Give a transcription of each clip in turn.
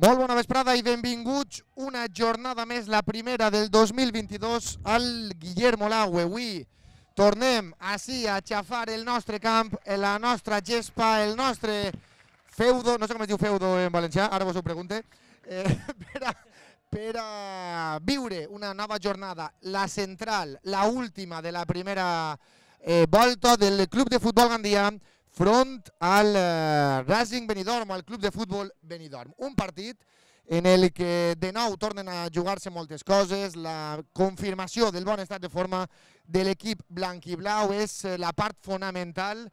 Molt bona vesprada i benvinguts una jornada més, la primera del 2022 al Guillermo Laue. Avui tornem així a xafar el nostre camp, la nostra gespa, el nostre feudo, no sé com es diu feudo en valencià, ara vos ho pregunte, per a viure una nova jornada, la central, la última de la primera volta del Club de Futbol Gandia front al Racing Benidorm, al Club de Futbol Benidorm. Un partit en el que de nou tornen a jugar-se moltes coses, la confirmació del bon estat de forma de l'equip blanc-i-blau és la part fonamental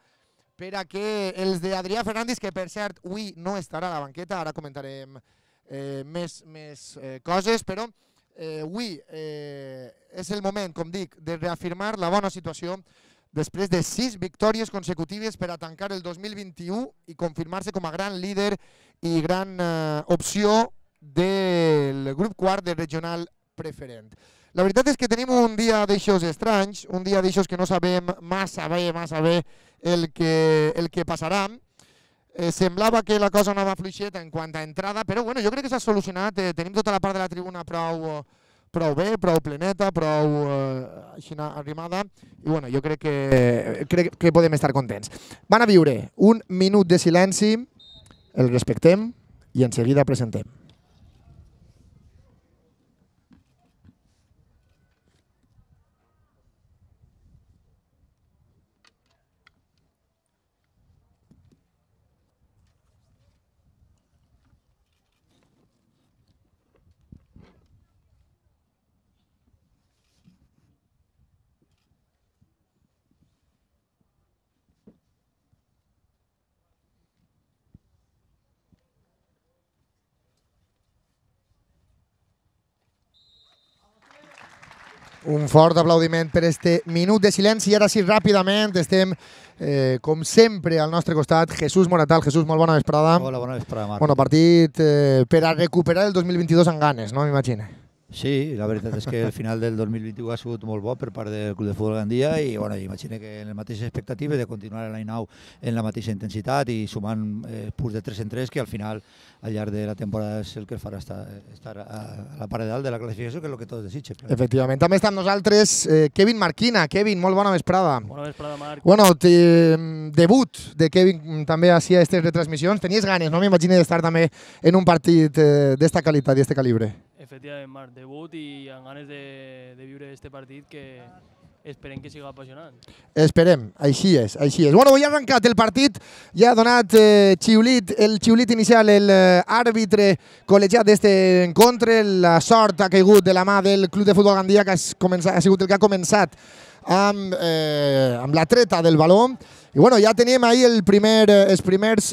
per a que els d'Adrià Fernández, que per cert avui no estarà a la banqueta, ara comentarem més coses, però avui és el moment, com dic, de reafirmar la bona situació després de 6 victòries consecutives per a tancar el 2021 i confirmar-se com a gran líder i gran opció del grup quart de regional preferent. La veritat és que tenim un dia d'eixos estranys, un dia d'eixos que no sabem massa bé el que passarà. Semblava que la cosa anava fluixeta en quant a entrada, però bueno, jo crec que s'ha solucionat. Tenim tota la part de la tribuna prou bé, prou pleneta, prou així arrimada, i bueno, jo crec que podem estar contents. Van a viure un minut de silenci, el respectem i en seguida presentem. Un fort aplaudiment per este minut de silenci. I ara sí, ràpidament, estem, com sempre, al nostre costat, Jesús Moratal. Jesús, molt bona vesprada. Hola, bona vesprada, Marc. Bueno, partit per a recuperar el 2022 amb ganes, no? M'imagino. Sí, la veritat és que el final del 2021 ha sigut molt bo per part del Club de Futbol Gandia i bueno, imagino que en les mateixes expectatives de continuar l'any nou en la mateixa intensitat i sumant punts de 3 en 3, que al final al llarg de la temporada és el que farà estar a la part de dalt de la classificació, que és el que tots desitgen. Efectivament. També està amb nosaltres Kevin Marquina. Kevin, molt bona vesprada. Bona vesprada, Marc. Bueno, debut de Kevin també així a aquestes retransmissions. Tenies ganes, no? M'imagino d'estar també en un partit d'esta qualitat i d'este calibre. Efectivament, Marc, debut i amb ganes de viure aquest partit que esperem que siga apassionant. Esperem, així és, així és. Bueno, ja ha arrencat el partit, ja ha donat el xiulit inicial, l'àrbitre col·legiat d'este encontre. La sort ha caigut de la mà del Club de Futbol Gandia, que ha sigut el que ha començat amb la treta del baló. I bueno, ja teníem ahir els primers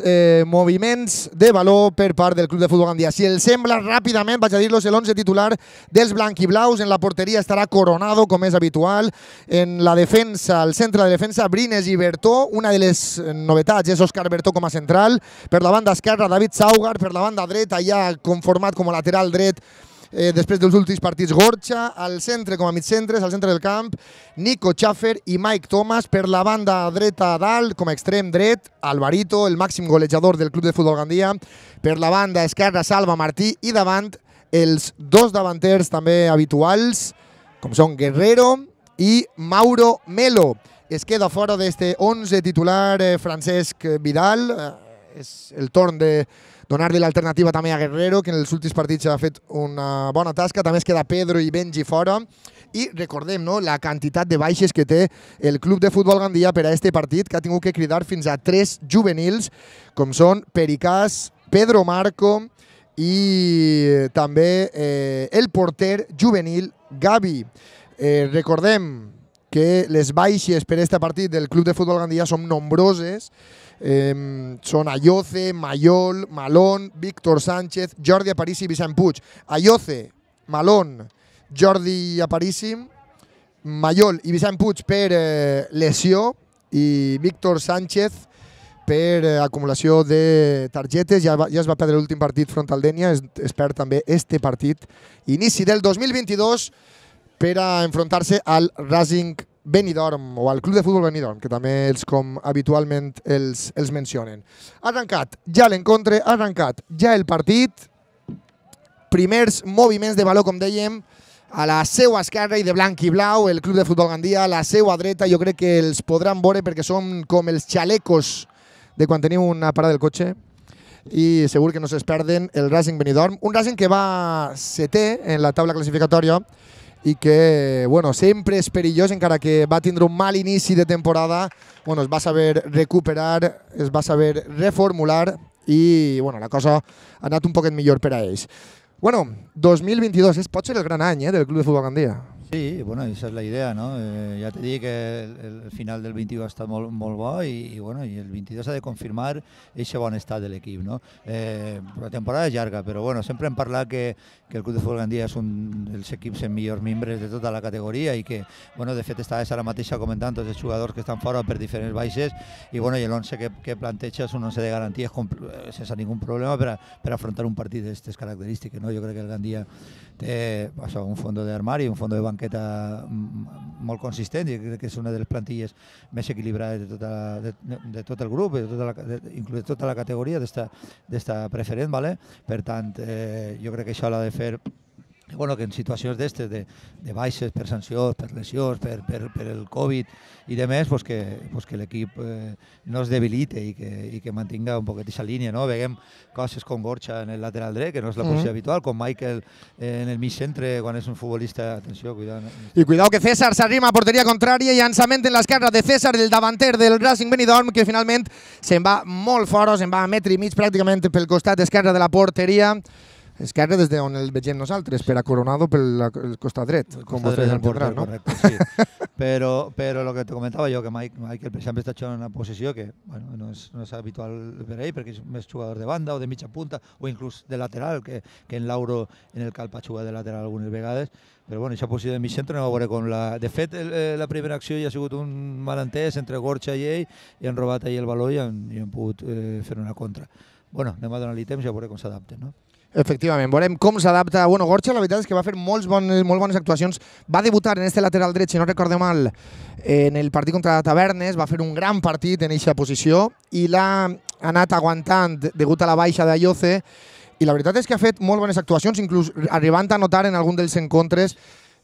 moviments de baló per part del Club de Futbol Gandia. Si els sembla, ràpidament vaig a dir-los l'11 titular dels blanquiblaus. En la porteria estarà Coronado, com és habitual. En la defensa, al centre de defensa, Brines i Bertó. Una de les novetats és Òscar Bertó com a central. Per la banda esquerra, David Saugar. Per la banda dreta, ja conformat com a lateral dret, després dels últims partits, Gorcha. Al centre, com a mitcentres, al centre del camp, Nico Schaffer i Mike Thomas. Per la banda dreta dalt, com a extrem dret, Alvarito, el màxim golejador del Club de Futbol Gandia. Per la banda esquerra, Salva Martí. I davant, els dos davanters també habituals, com són Guerrero i Mauro Melo. Es queda fora d'este 11 titular Francesc Vidal. És el torn de donar-li l'alternativa també a Guerrero, que en els últims partits ha fet una bona tasca. També es queda Pedro i Benji fora. I recordem, no, la quantitat de baixes que té el Club de Futbol Gandia per a este partit, que ha tingut que cridar fins a 3 juvenils, com són Pericàs, Pedro Marco i també el porter juvenil Gavi. Recordem que les baixes per a este partit del Club de Futbol Gandia són nombroses. Són Ayoce, Mayol, Malón, Víctor Sánchez, Jordi Aparici i Vicent Puig. Ayoce, Malón, Jordi Aparici, Mayol i Vicent Puig per lesió i Víctor Sánchez per acumulació de targetes. Ja es va perdre l'últim partit front al Dénia, es perd també este partit. Inici del 2022 per a enfrontar-se al Racing Benidorm, o al Club de Futbol Benidorm, que també els com habitualment els mencionen. Ha arrencat ja l'encontre, ha arrencat ja el partit. primers moviments de baló, com dèiem, a la seva esquerra i de blanc i blau, el Club de Futbol Gandia, a la seva dreta jo crec que els podran veure perquè són com els xalecos de quan teniu una parada del cotxe i segur que no se'ls perden el Racing Benidorm, un Racing que va setè en la taula classificatòria i que bueno, sempre és perillós, encara que va tindre un mal inici de temporada, bueno, es va saber recuperar, es va saber reformular i bueno, la cosa ha anat un poquet millor per a ells. Bueno, 2022 pot ser el gran any del Club de Futbol Gandia. Sí, bueno, esa es la idea, ¿no? Ya te dije que el final del 21 ha estat molt bo i bueno, i el 22 ha de confirmar aquest bon estat de l'equip, no? La temporada és llarga, però bueno, sempre hem parlat que el Club de Futbol Gandia és un dels equips amb millors membres de tota la categoria i que, bueno, de fet estaves ara mateixa comentant tots els jugadors que estan fora per diferents baixes i bueno, i l'11 que planteja és un 11 de garanties sense ningú problema per afrontar un partit d'aquestes característiques, no? Jo crec que el Gandia té un fons d'armari, un fons de banqueta molt consistent i crec que és una de les plantilles més equilibrades de tot el grup, inclús de tota la categoria d'esta preferent, ¿vale? Per tant, jo crec que això l'ha de fer bueno, que en situacions d'estes, de baixes per sancions, per lesions, per el Covid i de més, pues que l'equip no es debilite i que mantinga un poquet aquesta línia, no? Veiem coses com Gorcha en el lateral dret, que no és la posició habitual, com Michael en el mig centre, quan és un futbolista, atenció, cuidado. I cuidado que César s'arrima a porteria contrària i llançament en l'esquerra de César, el davanter del Racing Benidorm, que finalment se'n va molt fora, se'n va a metre i mig pràcticament pel costat esquerre de la porteria. Esquerre des d'on el vegem nosaltres, per a Coronado pel costat dret, com vostès entendran, no? Correcte, sí. Però el que te comentava jo, que Michael, per exemple, està jugant en una posició que bueno, no és habitual per ell, perquè és més jugador de banda o de mitja punta, o inclús de lateral, que en Lauro en el Calp ha jugat de lateral algunes vegades, però bueno, aquesta posició de mig centre no va veure com la... De fet, la primera acció ja ha sigut un malentès entre Gorcha i ell, i han robat ahir el baló i han pogut fer una contra. Bueno, anem a donar-li temps i a veure com s'adapten, no? Efectivament, veurem com s'adapta. Bueno, Gorcha, la veritat és que va fer molt bones actuacions. Va debutar en este lateral dret, si no recordo mal, en el partit contra Tavernes. Va fer un gran partit en aquesta posició i l'ha anat aguantant degut a la baixa d'Ayoce. I la veritat és que ha fet molt bones actuacions, inclús arribant a notar en algun dels encontres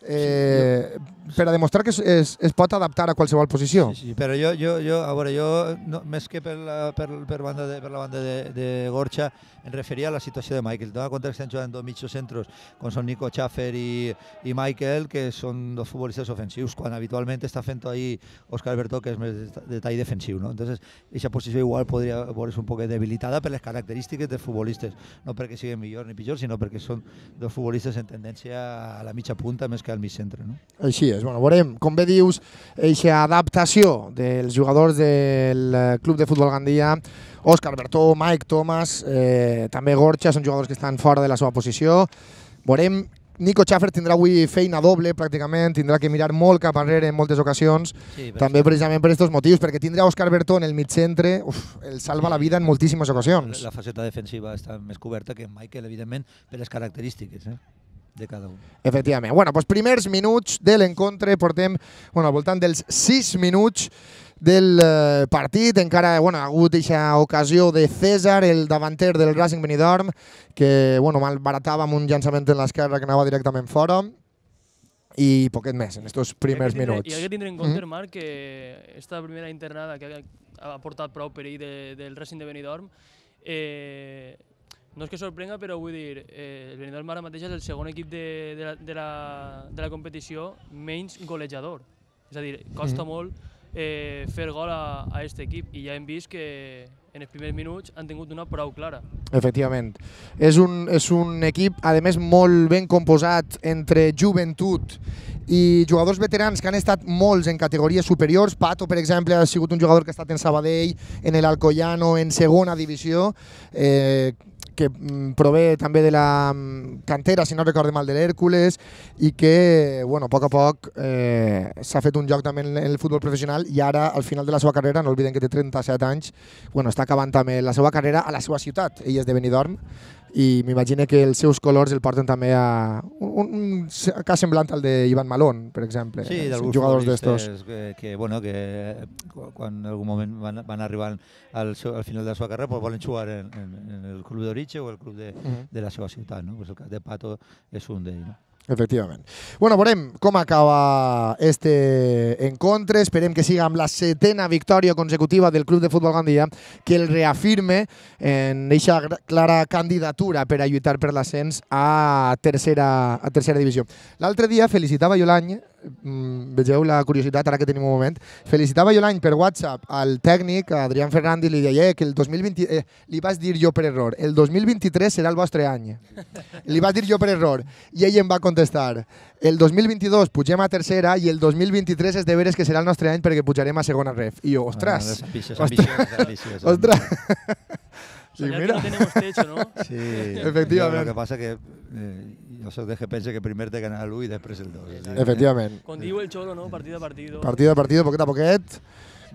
per a demostrar que es pot adaptar a qualsevol posició. Sí, però jo més que per la banda de Gorcha em referia a la situació de Michael. Dona compte que estan jugant dos mitjos centros, com són Nico Schaffer i Michael, que són dos futbolistes ofensius, quan habitualment està fent ahí Óscar Bertó, que és més de tall defensiu, no? Entonces, aquesta posició igual podria veure's un poc debilitada per les característiques dels futbolistes, no perquè siguin millor ni pitjor, sinó perquè són dos futbolistes en tendència a la mitja punta més que al mig centre, no? Així és. Bueno, veurem, com bé dius, aquesta adaptació dels jugadors del Club de Futbol Gandia, Óscar Bertó, Mike Thomas, també Gorcha, són jugadors que estan fora de la seva posició. Veurem, Nico Schaffer tindrà avui feina doble, pràcticament, tindrà que mirar molt cap arrere en moltes ocasions, també precisament per aquests motius, perquè tindrà Óscar Bertó en el mig centre, el salva la vida en moltíssimes ocasions. La faceta defensiva està més coberta que Michael, evidentment, per les característiques de cada un. Efectivament. Bueno, doncs primers minuts de l'encontre, portem al voltant dels 6 minuts del partit. Encara ha hagut aquesta ocasió de César, el davanter del Racing Benidorm, que malbaratava amb un llançament en l'esquerra que anava directament fora, i poquet més en aquests primers minuts. I ha de tindre en compte, Marc, que aquesta primera internada que ha portat prou perill del Racing de Benidorm, no és que sorprenga, però vull dir, el Benidorm ara mateix és el segon equip de la competició menys golejador. És a dir, costa molt fer gol a aquest equip i ja hem vist que en els primers minuts han tingut una prou clara. Efectivament. És un equip, a més, molt ben composat entre joventut i jugadors veterans que han estat molts en categories superiors. Pato, per exemple, ha sigut un jugador que ha estat en Sabadell, en l'Alcoyano, en segona divisió, que prové també de la cantera, si no recordo mal, de l'Hèrcules, i que, a poc s'ha fet un joc també en el futbol professional i ara, al final de la seva carrera, no oblidem que té 37 anys, està acabant també la seva carrera a la seva ciutat. Ell és de Benidorm i m'imagino que els seus colors el porten també a un cas semblant al d'Ivan Malón, per exemple. Sí, d'alguns jugadors d'estos. que quan en algun moment van arribar al final de la seva carrera pues volen jugar en el club d'origen o el club de la seva ciutat, no? Pues el cas de Pato és un d'ells, no? Efectivament. Bueno, veurem com acaba este encontre. Esperem que siga amb la 7ª victòria consecutiva del Club de Futbol Gandia, que el reafirme en aquesta clara candidatura per a lluitar per l'ascens a tercera divisió. L'altre dia felicitava jo l'any, vegeu la curiositat ara que tenim un moment, felicitava jo l'any per WhatsApp al tècnic, a Adrián Fernández, i li deia que el 2020, li vaig dir jo per error, el 2023 serà el vostre any. Li vaig dir jo per error i ell em va contestar, el 2022 pugem a tercera i el 2023 és de veres que serà el nostre any perquè pujarem a segona ref. I jo, ostres, ostres. Soñar que no tenemos techo, ¿no? Sí, efectivament. Lo que passa que jo soc de que pensa que primer té que anar l'1 i després el 2. Efectivament. Com diu el Cholo, ¿no? Partido a partido. Partido a partido, poquet a poquet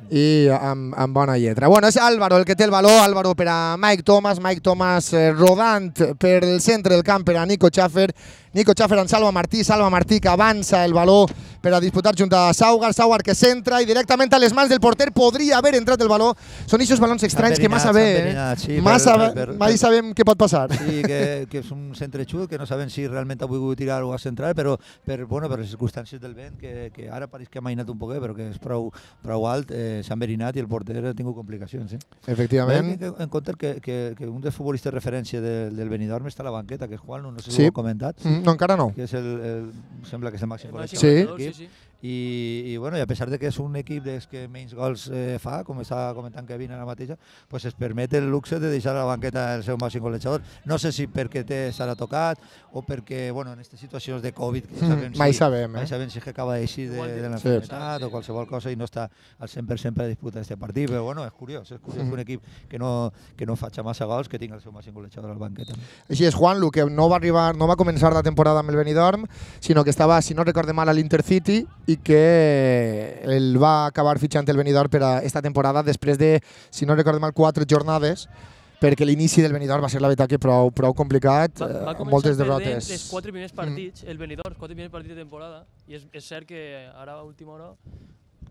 i amb bona lletra. Bueno, és Álvaro el que té el valor, Álvaro per a Mike Thomas rodant per el centre del camp per a Nico Schaffer en Salva Martí que avança el valor per a disputar junt a Saugar que centra i directament a les mans del porter podria haver entrat el valor. Són aquests balons estranys que massa bé, mai sabem què pot passar. Sí, que és un centre xut, que no sabem si realment ha volgut tirar o a centrar, però per les circumstàncies del vent, que ara pareix que ha mainat un poquet, però que és prou alt, s'ha enverinat i el porter ha tingut complicacions. Efectivament. En compte que un dels futbolistes de referència del Benidorm està a la banqueta, que és Juan, no sé si ho heu comentat. No, encara no. Que és sembla que és el màxim golejador de l'equip. Sí. I a pesar de que és un equip que menys gols fa, com està comentant Kevin ara mateix, pues es permet el luxe de deixar a la banqueta el seu màxim golejador. No sé si perquè s'ha tocat o perquè, en aquestes situacions de Covid, mai sabem si acaba d'eixir de l'enfermetat o qualsevol cosa i no està al 100% per a disputar aquest partit, però és curiós que un equip que no faci massa gols que tingui el seu màxim golejador a la banqueta. Així és Juanlu, que no va començar la temporada amb el Benidorm, sinó que estava, si no recorde mal, a l'Intercity i que el va acabar fitxant el Benidorm per a aquesta temporada després de, si no recorde mal, 4 jornades, perquè l'inici del Benidorm va ser la veritat que prou complicat, amb moltes derrotes. Els 4 primers partits, el Benidorm, els 4 primers partits de temporada, i és cert que ara a última hora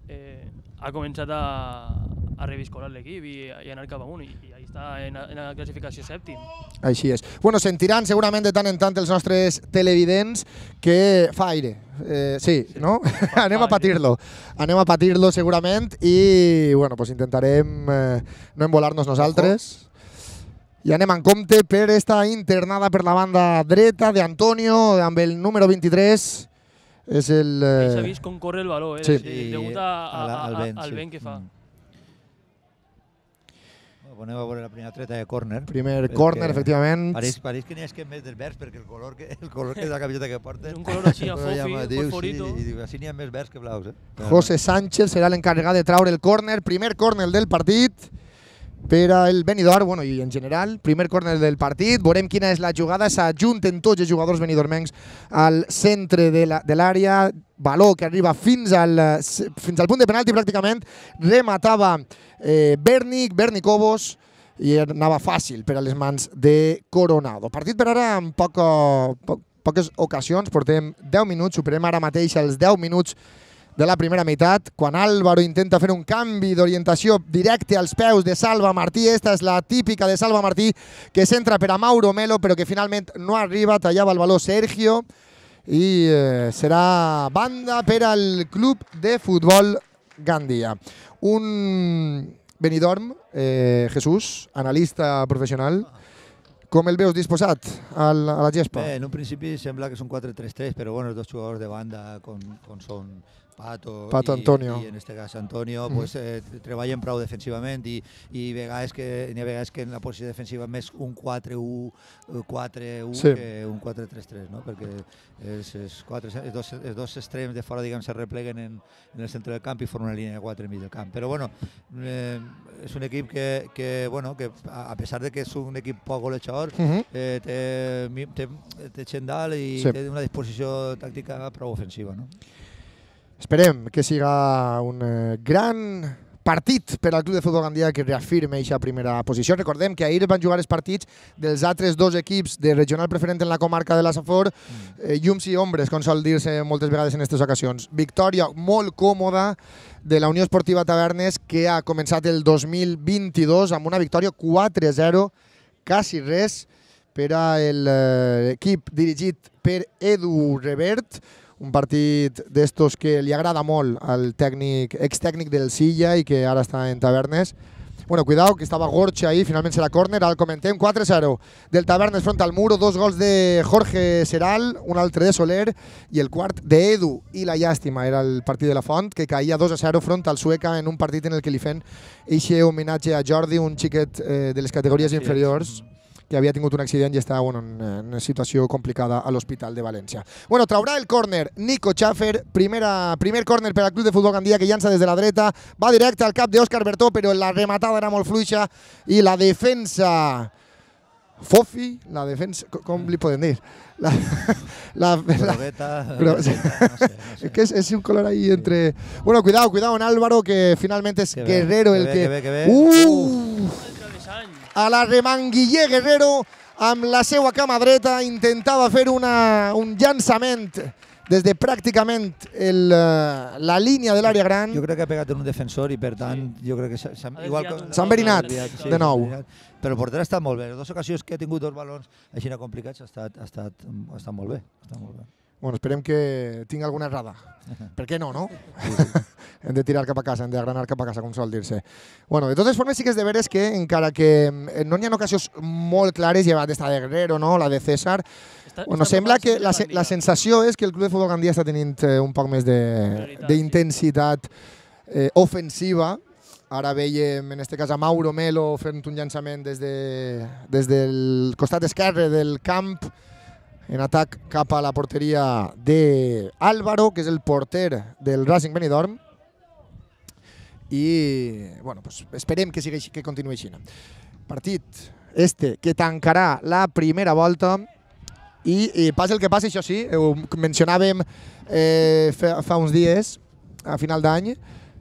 ha començat a reviscolar l'equip i anar cap amunt, i ahí està en la classificació sèptim. Així és. Bueno, sentiran segurament de tant en tant els nostres televidents que fa aire. Sí, no? Anem a patir-lo segurament i pues intentarem no embolar-nos nosaltres. I anem en compte per esta internada per la banda dreta d'Antonio amb el número 23. És el... S'ha vist com corre el valor, degut al vent que fa. Anem a veure la primera treta de córner. Primer córner, efectivament. Pareix que n'hi ha que més dels verds, perquè el color que és la camiseta que porta... És un color així, a fofi, fosforito. I així n'hi ha més verds que blaus. José Sánchez serà l'encarregat de traure el córner, primer córner del partit per al Benidorm, i en general, primer córner del partit. Veurem quina és la jugada. S'ajunten tots els jugadors benidormencs al centre de l'àrea. Valor que arriba fins al punt de penalti pràcticament. Rematava Berni Cobos i anava fàcil per a les mans de Coronado. Partit per ara amb poques ocasions. Portem 10 minuts, superem ara mateix els 10 minuts de la primera meitat, quan Álvaro intenta fer un canvi d'orientació directe als peus de Salva Martí. Esta és la típica de Salva Martí, que s'entra per a Mauro Melo, però que finalment no arriba, tallava el valor Sergio, i serà banda per al Club de Futbol Gandia. Un Benidorm, Jesús, analista professional, com el veus disposat a la gespa? Bé, en un principi sembla que és un 4-3-3, però els dos jugadors de banda, com són Pato Antonio. I en aquest cas Antonio, treballen prou defensivament i n'hi ha vegades que en la posició defensiva més un 4-1 que un 4-3-3, no? Perquè els dos extrems de fora se repleguen en el centre del camp i formen una línia de 4 enmig del camp. Però és un equip que a pesar de que és un equip poc golejador, té gent dalt i té una disposició tàctica prou ofensiva, no? Esperem que siga un gran partit per al Club de Futbol Gandia que reafirma aquesta primera posició. Recordem que ahir van jugar els partits dels altres dos equips de regional preferent en la comarca de la Safor, llums i ombres, com sol dir-se moltes vegades en aquestes ocasions. Victòria molt còmoda de la Unió Esportiva Tavernes, que ha començat el 2022 amb una victòria 4-0, quasi res, per a l'equip dirigit per Edu Revert, un partit d'estos que li agrada molt al extècnic del Silla i que ara està en Tavernes. Bueno, cuidao, que estava Gorcha ahí, finalment serà córner, ara el comentem, 4-0 del Tavernes front al muro, 2 gols de Jorge Seral, un altre de Soler i el quart d'Edu. I la llàstima era el partit de la Font, que caïa 2-0 front al Sueca en un partit en el que li feien eixe homenatge a Jordi, un xiquet de les categories inferiors, que havia tingut un accident i està en una situació complicada a l'Hospital de València. Bueno, traurà el córner Nico Schaffer, primer córner per al Club de Futbol Gandia, que llança des de la dreta, va directe al cap d'Òscar Bertó, però la rematada era molt fluixa i la defensa... Fofi, la defensa... Com li podem dir? Grogueta, no sé. Que és un color ahí entre... Bueno, cuidado en Álvaro, que finalment és Guerrero el que... A la remanguiller Guerrero, amb la seva cama dreta, intentava fer un llançament des de pràcticament la línia de l'àrea gran. Jo crec que ha pegat en un defensor i per tant jo crec que s'ha enverinat de nou. Però el porter ha estat molt bé. En 2 ocasions que ha tingut 2 balons així complicats ha estat molt bé. Bueno, esperem que tingui alguna errada. Per què no, no? Hem de tirar cap a casa, hem d'agranar cap a casa, com sol dir-se. Bueno, de totes formes sí que és de veres que, encara que no hi ha ocasions molt clares, llevat d'esta de Guerrero, no? La de César, bueno, sembla que la sensació és que el Club de Futbol Gandia està tenint un poc més d'intensitat ofensiva. Ara veiem, en aquest cas, a Mauro Melo fent un llançament des del costat esquerre del camp, en atac cap a la porteria d'Álvaro, que és el porter del Racing Benidorm. I bueno, pues esperem que continuï així. Partit que tancarà la primera volta i passa el que passa, això sí, ho mencionàvem fa uns dies, a final d'any,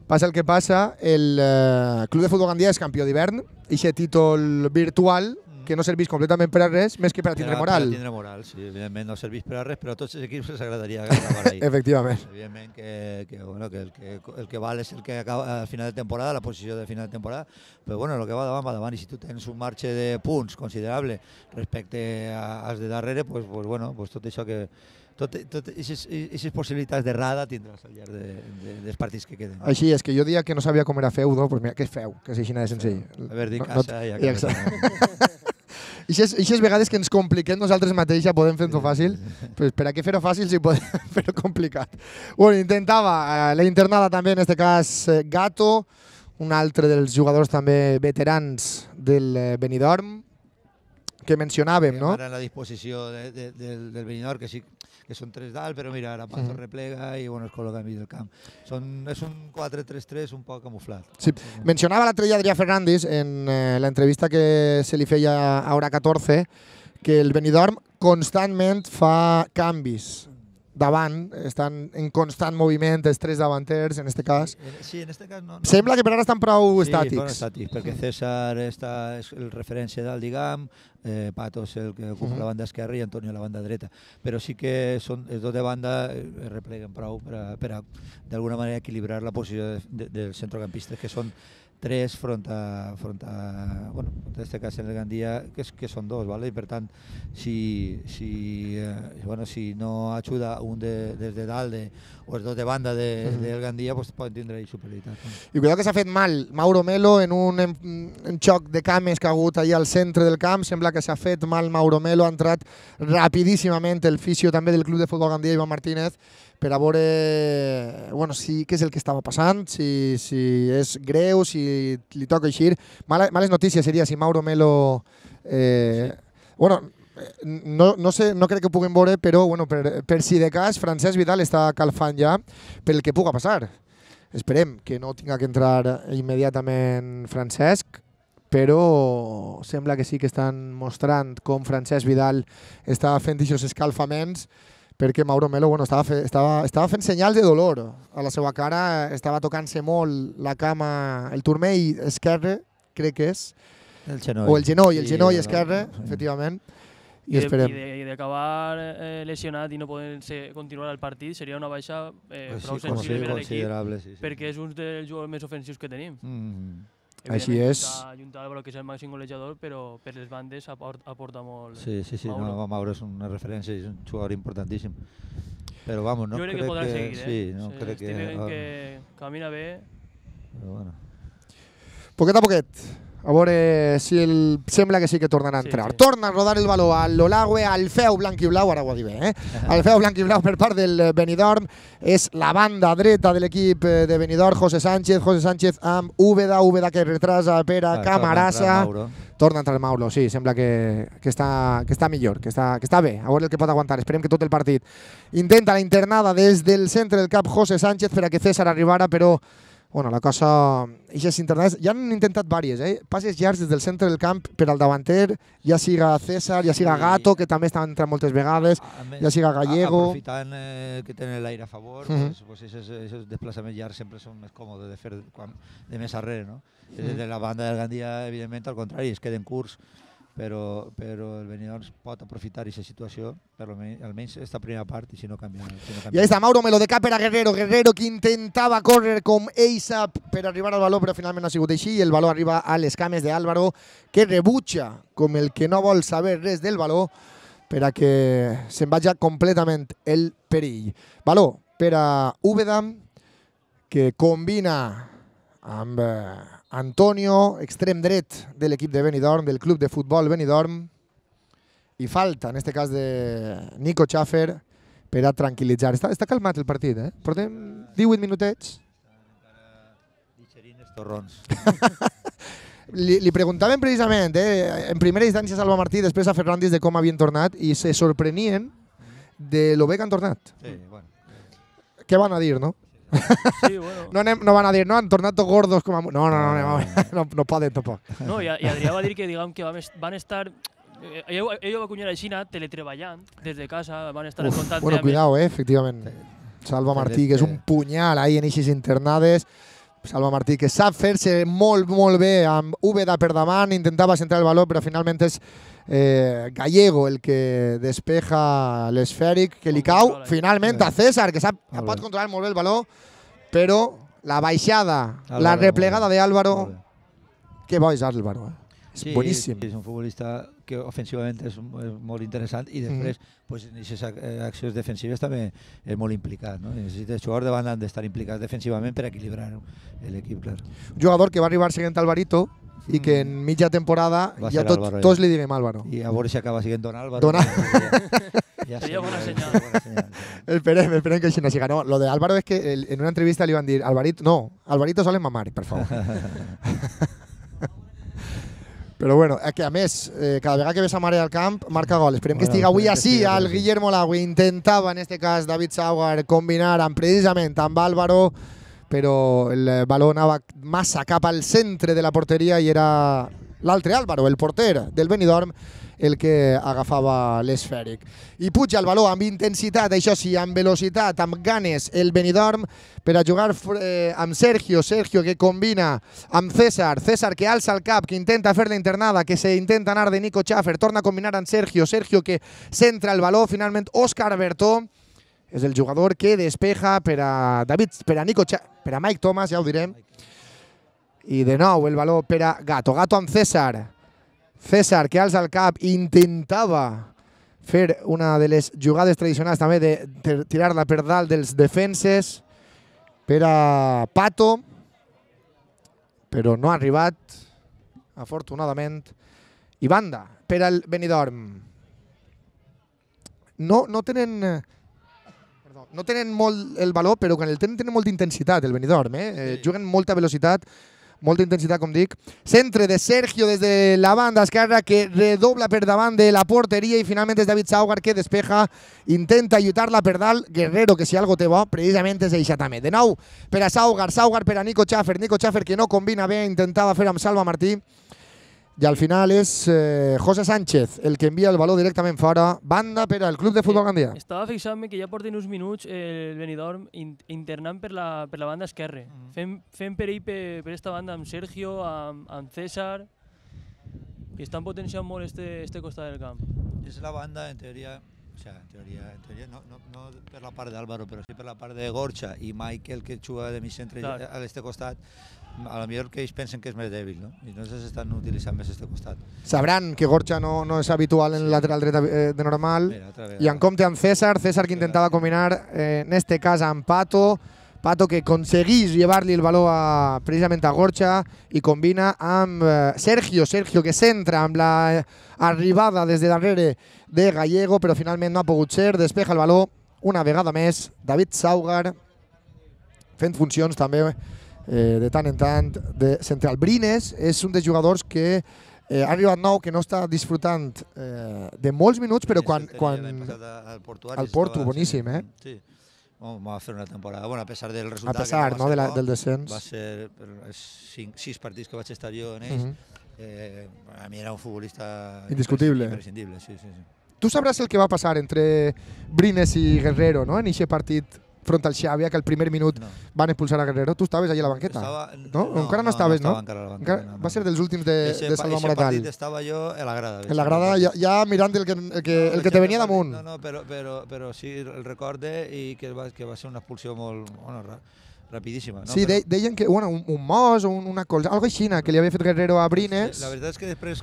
passa el que passa, el Club de Futbol Gandia és campió d'hivern, i aquest títol virtual que no serveix completament per a res, més que per a tindre moral. Per a tindre moral, sí, evidentment no serveix per a res, però a tots els equips els agradaria acabar ahí. Efectivament. Evidentment que el que val és el que acaba al final de temporada, la posició de final de temporada, però bueno, el que va davant, i si tu tens un marge de punts considerable respecte als de darrere, pues bueno, tot això que... Aquestes possibilitats d'errada tindràs al llarg dels partits que queden. Així és, que jo dia que no sabia com era feudo, doncs mira, què és feu, que és així de senzill. Haver dit casa i acabar. I aquestes vegades que ens compliquem nosaltres mateixos podem fer-ho fàcil, pues per a què fer-ho fàcil si podem fer-ho complicat. Bueno, intentava la internada també, en aquest cas, Gato, un altre dels jugadors també veterans del Benidorm, que mencionàvem, no? Ara en la disposició del Benidorm, que sí que són 3 dalt, però mira, ara Pato replega i bueno, es col·loca enmig del camp. És un 4-3-3 un poc camuflat. Sí. Mencionava l'altre dia Adrià Fernández en l'entrevista que se li feia a Hora 14 que el Benidorm constantment fa canvis davant, estan en constant moviment els 3 davanters, en aquest cas. Sí, en aquest cas no. Sembla que per ara estan prou estàtics. Sí, prou estàtics, perquè César és el referència dalt, diguem, Pato és el que ocupa la banda esquerra i Antonio la banda dreta. Però sí que els dos de banda repleguen prou per a d'alguna manera equilibrar la posició dels centrocampistes, que són 3 front a bueno, en aquest cas en el Gandia, que són 2, ¿vale? I per tant, si no ajuda un des de dalt o els 2 de banda del Gandia, pues poden tindre superioritat. I cuidado que s'ha fet mal Mauro Melo en un xoc de cames que ha hagut allà al centre del camp, sembla que s'ha fet mal Mauro Melo, ha entrat rapidíssimament el fisio també del Club de Futbol Gandia, Ivan Martínez, per a veure què és el que estava passant, si és greu, si li toca eixir. Males notícies seria si Mauro Melo... No crec que ho puguem veure, però per si de cas, Francesc Vidal està calfant ja pel que puga passar. Esperem que no tinga que entrar immediatament Francesc, però sembla que sí que estan mostrant com Francesc Vidal està fent aquests escalfaments perquè Mauro Melo estava fent senyals de dolor a la seva cara, estava tocant-se molt la cama, el turmell esquerre, crec que és, El genoll. o el genoll esquerre, efectivament. I esperem. I d'acabar lesionat i no poder continuar el partit seria una baixa prou sensible per a l'equip, perquè és un dels jugadors més ofensius que tenim. Així és. Junta Álvaro, que és el màxim golejador, però per les bandes aporta molt. Sí, no, Mauro és una referència, és un jugador importantíssim. Però vamos, no jo crec que podrà seguir, sí, no crec que camina bé. Però bueno. Poquet a poquet. A veure si sembla que sí que tornarà a entrar. Sí. Torna a rodar el baló a l'Olagüe, al feu blanc i blau, ara ho ha dit bé, al feu blanc i blau per part del Benidorm. És la banda dreta de l'equip de Benidorm, José Sánchez amb Úbeda que retrasa per a Camarasa. Torna a entrar Mauro, sí, sembla que està millor, que està bé. A veure el que pot aguantar, esperem que tot el partit. Intenta la internada des del centre del cap José Sánchez per a que César arribara, però bueno, la cosa... Eixes internades ja han intentat diverses, passes llargs des del centre del camp per al davanter, ja siga César, ja siga Gato, que també està entrant moltes vegades, ja siga Gallego... Aprofitant que tenen l'aire a favor, pues esos desplaçaments llargs sempre són més còmodes de fer de més arrere, no? De la banda del Gandia, evidentment, al contrari, es queden curts, però el Benidorm pot aprofitar aquesta situació, per almenys esta primera part, i si no canvia. I ahí està Mauro Melo de cap per a Guerrero que intentava córrer com ell sap per arribar al baló, però finalment no ha sigut així, i el baló arriba a les cames d'Álvaro, que rebutja com el que no vol saber res del baló per a que se'n vagi completament el perill. Baló per a Úbeda, que combina amb Antonio, extrem dret de l'equip de Benidorm, del club de futbol Benidorm, i falta, en aquest cas de Nico Schaffer, per a tranquil·litzar. Està calmat el partit, Portem 18 minutets. Digerint els torrons. Li preguntaven precisament, en primera instància a Salva Martí, després a Ferrandis, de com havien tornat, i se sorprenien de lo bé que han tornat. Sí, bueno. Què van a dir, no? Sí, bueno. No van a dir, no, han tornat tots gordos com a... No poden tampoc. No, i Adrià va dir que, diguem, que van estar... Ell va cunyar així, teletreballant des de casa, van estar en contacte... Bueno, cuidao, efectivament. Salva Martí, que és un punyal ahí en eixes internades. Salva Martí, que sap fer-se molt, molt bé amb Úbeda per davant, intentava centrar el baló, però finalment és Gallego el que despeja l'esfèric, que li cau finalment a César, que pot controlar molt bé el baló, però la baixada, la replegada d'Álvaro, que bo és Álvaro, és boníssim. Sí, és un futbolista que ofensivament és molt interessant i després en aquestes accions defensives també és molt implicat. Els jugadors de banda han d'estar implicats defensivament per equilibrar l'equip, clar. Un jugador que va arribar seguint Alvarito i que en mitja temporada ja tots li diguem Álvaro. I a veure si acaba siguent Don Álvaro. Seria bona senyal. Esperem que així no siga. No, lo de Álvaro és que en una entrevista li van dir Alvarito solen mamar, per favor. Però bueno, que a més, cada vegada que ves a Mare al camp, marca gol. Esperem que estigui avui així. El Guillermo Lagüe intentava, en aquest cas, David Saugar, combinar precisament amb Álvaro, però el baló anava massa cap al centre de la porteria i era l'altre Álvaro, el porter del Benidorm, el que agafava l'esfèric. I puja el baló amb intensitat, això sí, amb velocitat, amb ganes, el Benidorm, per a jugar amb Sergio que combina amb César que alça el cap, que intenta fer la internada, que se intenta anar de Nico Schaffer, torna a combinar amb Sergio que centra el baló, finalment Òscar Bertó és el jugador que despeja per a Nico Schaffer, per a Mike Thomas, ja ho direm, i de nou el baló per a Gato amb César que alça el cap, intentava fer una de les jugades tradicionals també de tirar-la per dalt dels defenses per a Pato, però no ha arribat, afortunadament. I banda per al Benidorm. No tenen molt el baló, però quan el tenen molta intensitat, el Benidorm. Juguen molta velocitat, molta intensitat, com dic. Centre de Sergio des de la banda esquerra, que redobla per davant de la porteria, i finalment és David Saugar que despeja, intenta lluitar-la per dalt. Guerrero, que si algo té bo, precisament és això també. De nou per a Saugar per a Nico Schaffer que no combina bé, intentava fer amb Salva Martí. I al final és José Sánchez el que envia el valor directament fora. Banda per al Club de Futbol Gandia. Estava fixant-me que ja porten uns minuts el Benidorm internant per la banda esquerra. Fent perill per esta banda amb Sergio, amb César, i estan potenciant molt este costat del camp. És la banda, en teoria, no per la part d'Álvaro, però sí per la part de Gorcha i Michael, que juga de mig centre a l'este costat, a lo millor que ells pensen que és més dèbil, no? I entonces estan utilitzant més este costat. Sabran que Gorcha no és habitual en el lateral dret de normal. I en compte amb César que intentava combinar, en este cas amb Pato que aconseguís llevar-li el valor precisament a Gorcha i combina amb Sergio que centra amb l'arribada des de darrere de Gallego, però finalment no ha pogut ser. Despeja el valor una vegada més David Saugar, fent funcions també de tant en tant de central. Brines és un dels jugadors que ha arribat nou, que no està disfrutant de molts minuts, però quan al Porto, boníssim, eh? Sí. Va fer una temporada, bueno, a pesar del resultat, a pesar del descens, va ser 6 partits que vaig estar jo en ells. A mi era un futbolista indiscutible, imprescindible. Sí. Tu sabràs el que va passar entre Brines i Guerrero, no? En aquest partit front al Xàbia, que al primer minut van expulsar a Guerrero. Tu estaves allà a la banqueta, no? Encara no estaves, no? Va ser dels últims de Salva Moratal. Ese partit estava jo en la grada. En la grada, ja mirant el que te venia damunt. No, però sí el recorde i que va ser una expulsió molt rapidíssima. Sí, deien que un mos o una cosa, algo així, que li havia fet Guerrero a Brines. La veritat és que després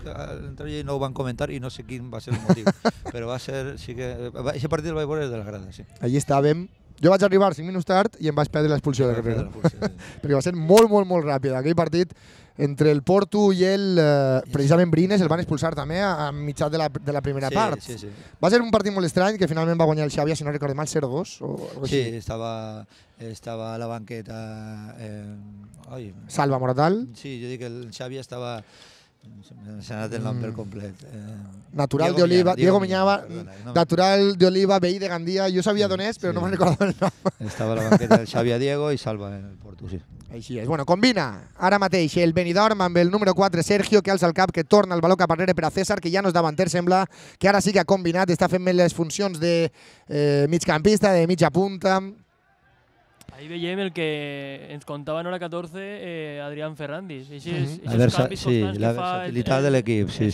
no ho van comentar i no sé quin va ser el motiu, però va ser, sí que... Aquest partit el vaig veure des de la grada, sí. Allí estàvem. Jo vaig arribar 5 minuts tard i em vaig perdre l'expulsió de Guerrero. Perquè va ser molt ràpida. Aquell partit entre el Porto i precisament Brines el van expulsar també a mitjà de la primera part. Sí. Va ser un partit molt estrany que finalment va guanyar el Xàbia, si no recordo mal, 0-2 o alguna cosa així. Sí, estava a la banqueta... Salva Moratal. Sí, jo dic que el Xàbia estava... S'ha anat el nom per complet. Natural de Oliva, Diego Miñava, Natural de Oliva, veí de Gandia. Jo sabia d'on és, però no me'n recordava el nom. Estava a la banqueta del Xavi Diego i Salva en el Porto, sí. Així és. Bueno, combina ara mateix el Benidorm amb el número 4, Sergio, que alça el cap, que torna el valor cap arrere per a César, que ja no és davanter, sembla que ara sí que ha combinat, està fent les funcions de migcampista, de mitja punta. Ahí veiem el que ens contava en hora 14 Adrián Ferrandis. La versatilitat de l'equip, sí.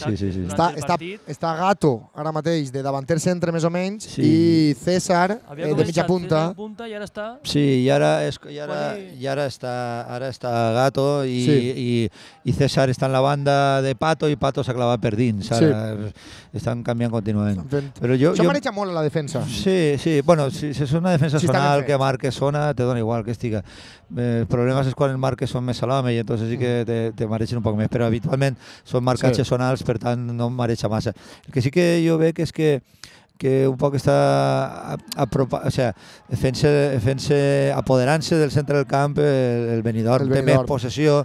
Està Gato ara mateix de davanter centre més o menys i César de mitja punta. I ara està... Sí, i ara està Gato i César està en la banda de Pato i Pato s'ha clavat per dins. Estan canviant contínuament. Això maneja molt a la defensa. Sí. Bueno, si és una defensa zonal que marque zona, te dona igual que estiga. El problema és quan els marques són més salame i entonces sí que te mareixen un poc més, però habitualment són marcatges zonals, per tant no mareja massa. El que sí que jo veig és que un poc està apoderant-se del centre del camp el Benidorm, té més possessió.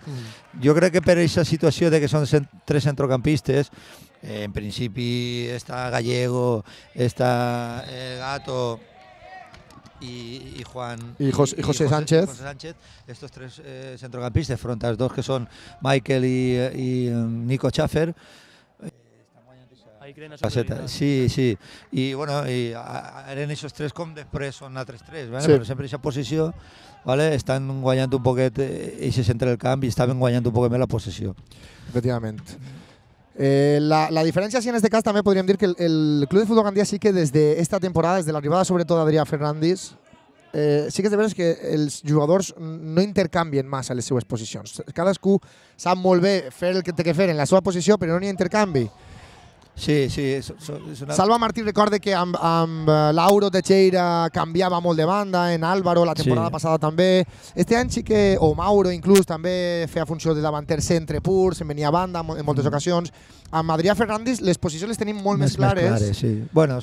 Jo crec que per aquesta situació de que són 3 centrocampistes, en principi està Gallego, està Gato y José Sánchez. Estos 3 centrocampistas frente a los 2 que son Michael y Nico Schaffer. Sí. I bueno, eren aquests 3 com després són altres 3, però sempre aquesta posició estan guanyant un poquet aquest centre del camp i estaven guanyant un poquet més la possessió. Efectivament. La diferència en este cas també podríem dir que el Club de Futbol Gandia sí que des d'esta temporada, des de l'arribada sobretot d'Adrià Fernández, sí que és de veres que els jugadors no intercanvien massa les seues posicions. Cadascú sap molt bé fer el que té que fer en la seva posició, però no n'hi ha intercanvi. Sí. Salva Martí recorda que amb Lauro Teixeira canviava molt de banda, en Álvaro la temporada passada també. Este any sí que, o Mauro inclús, també feia funció de davanter centre pur, se'n venia a banda en moltes ocasions. Amb Adrià Fernández les posicions les tenim molt més clares. Bueno,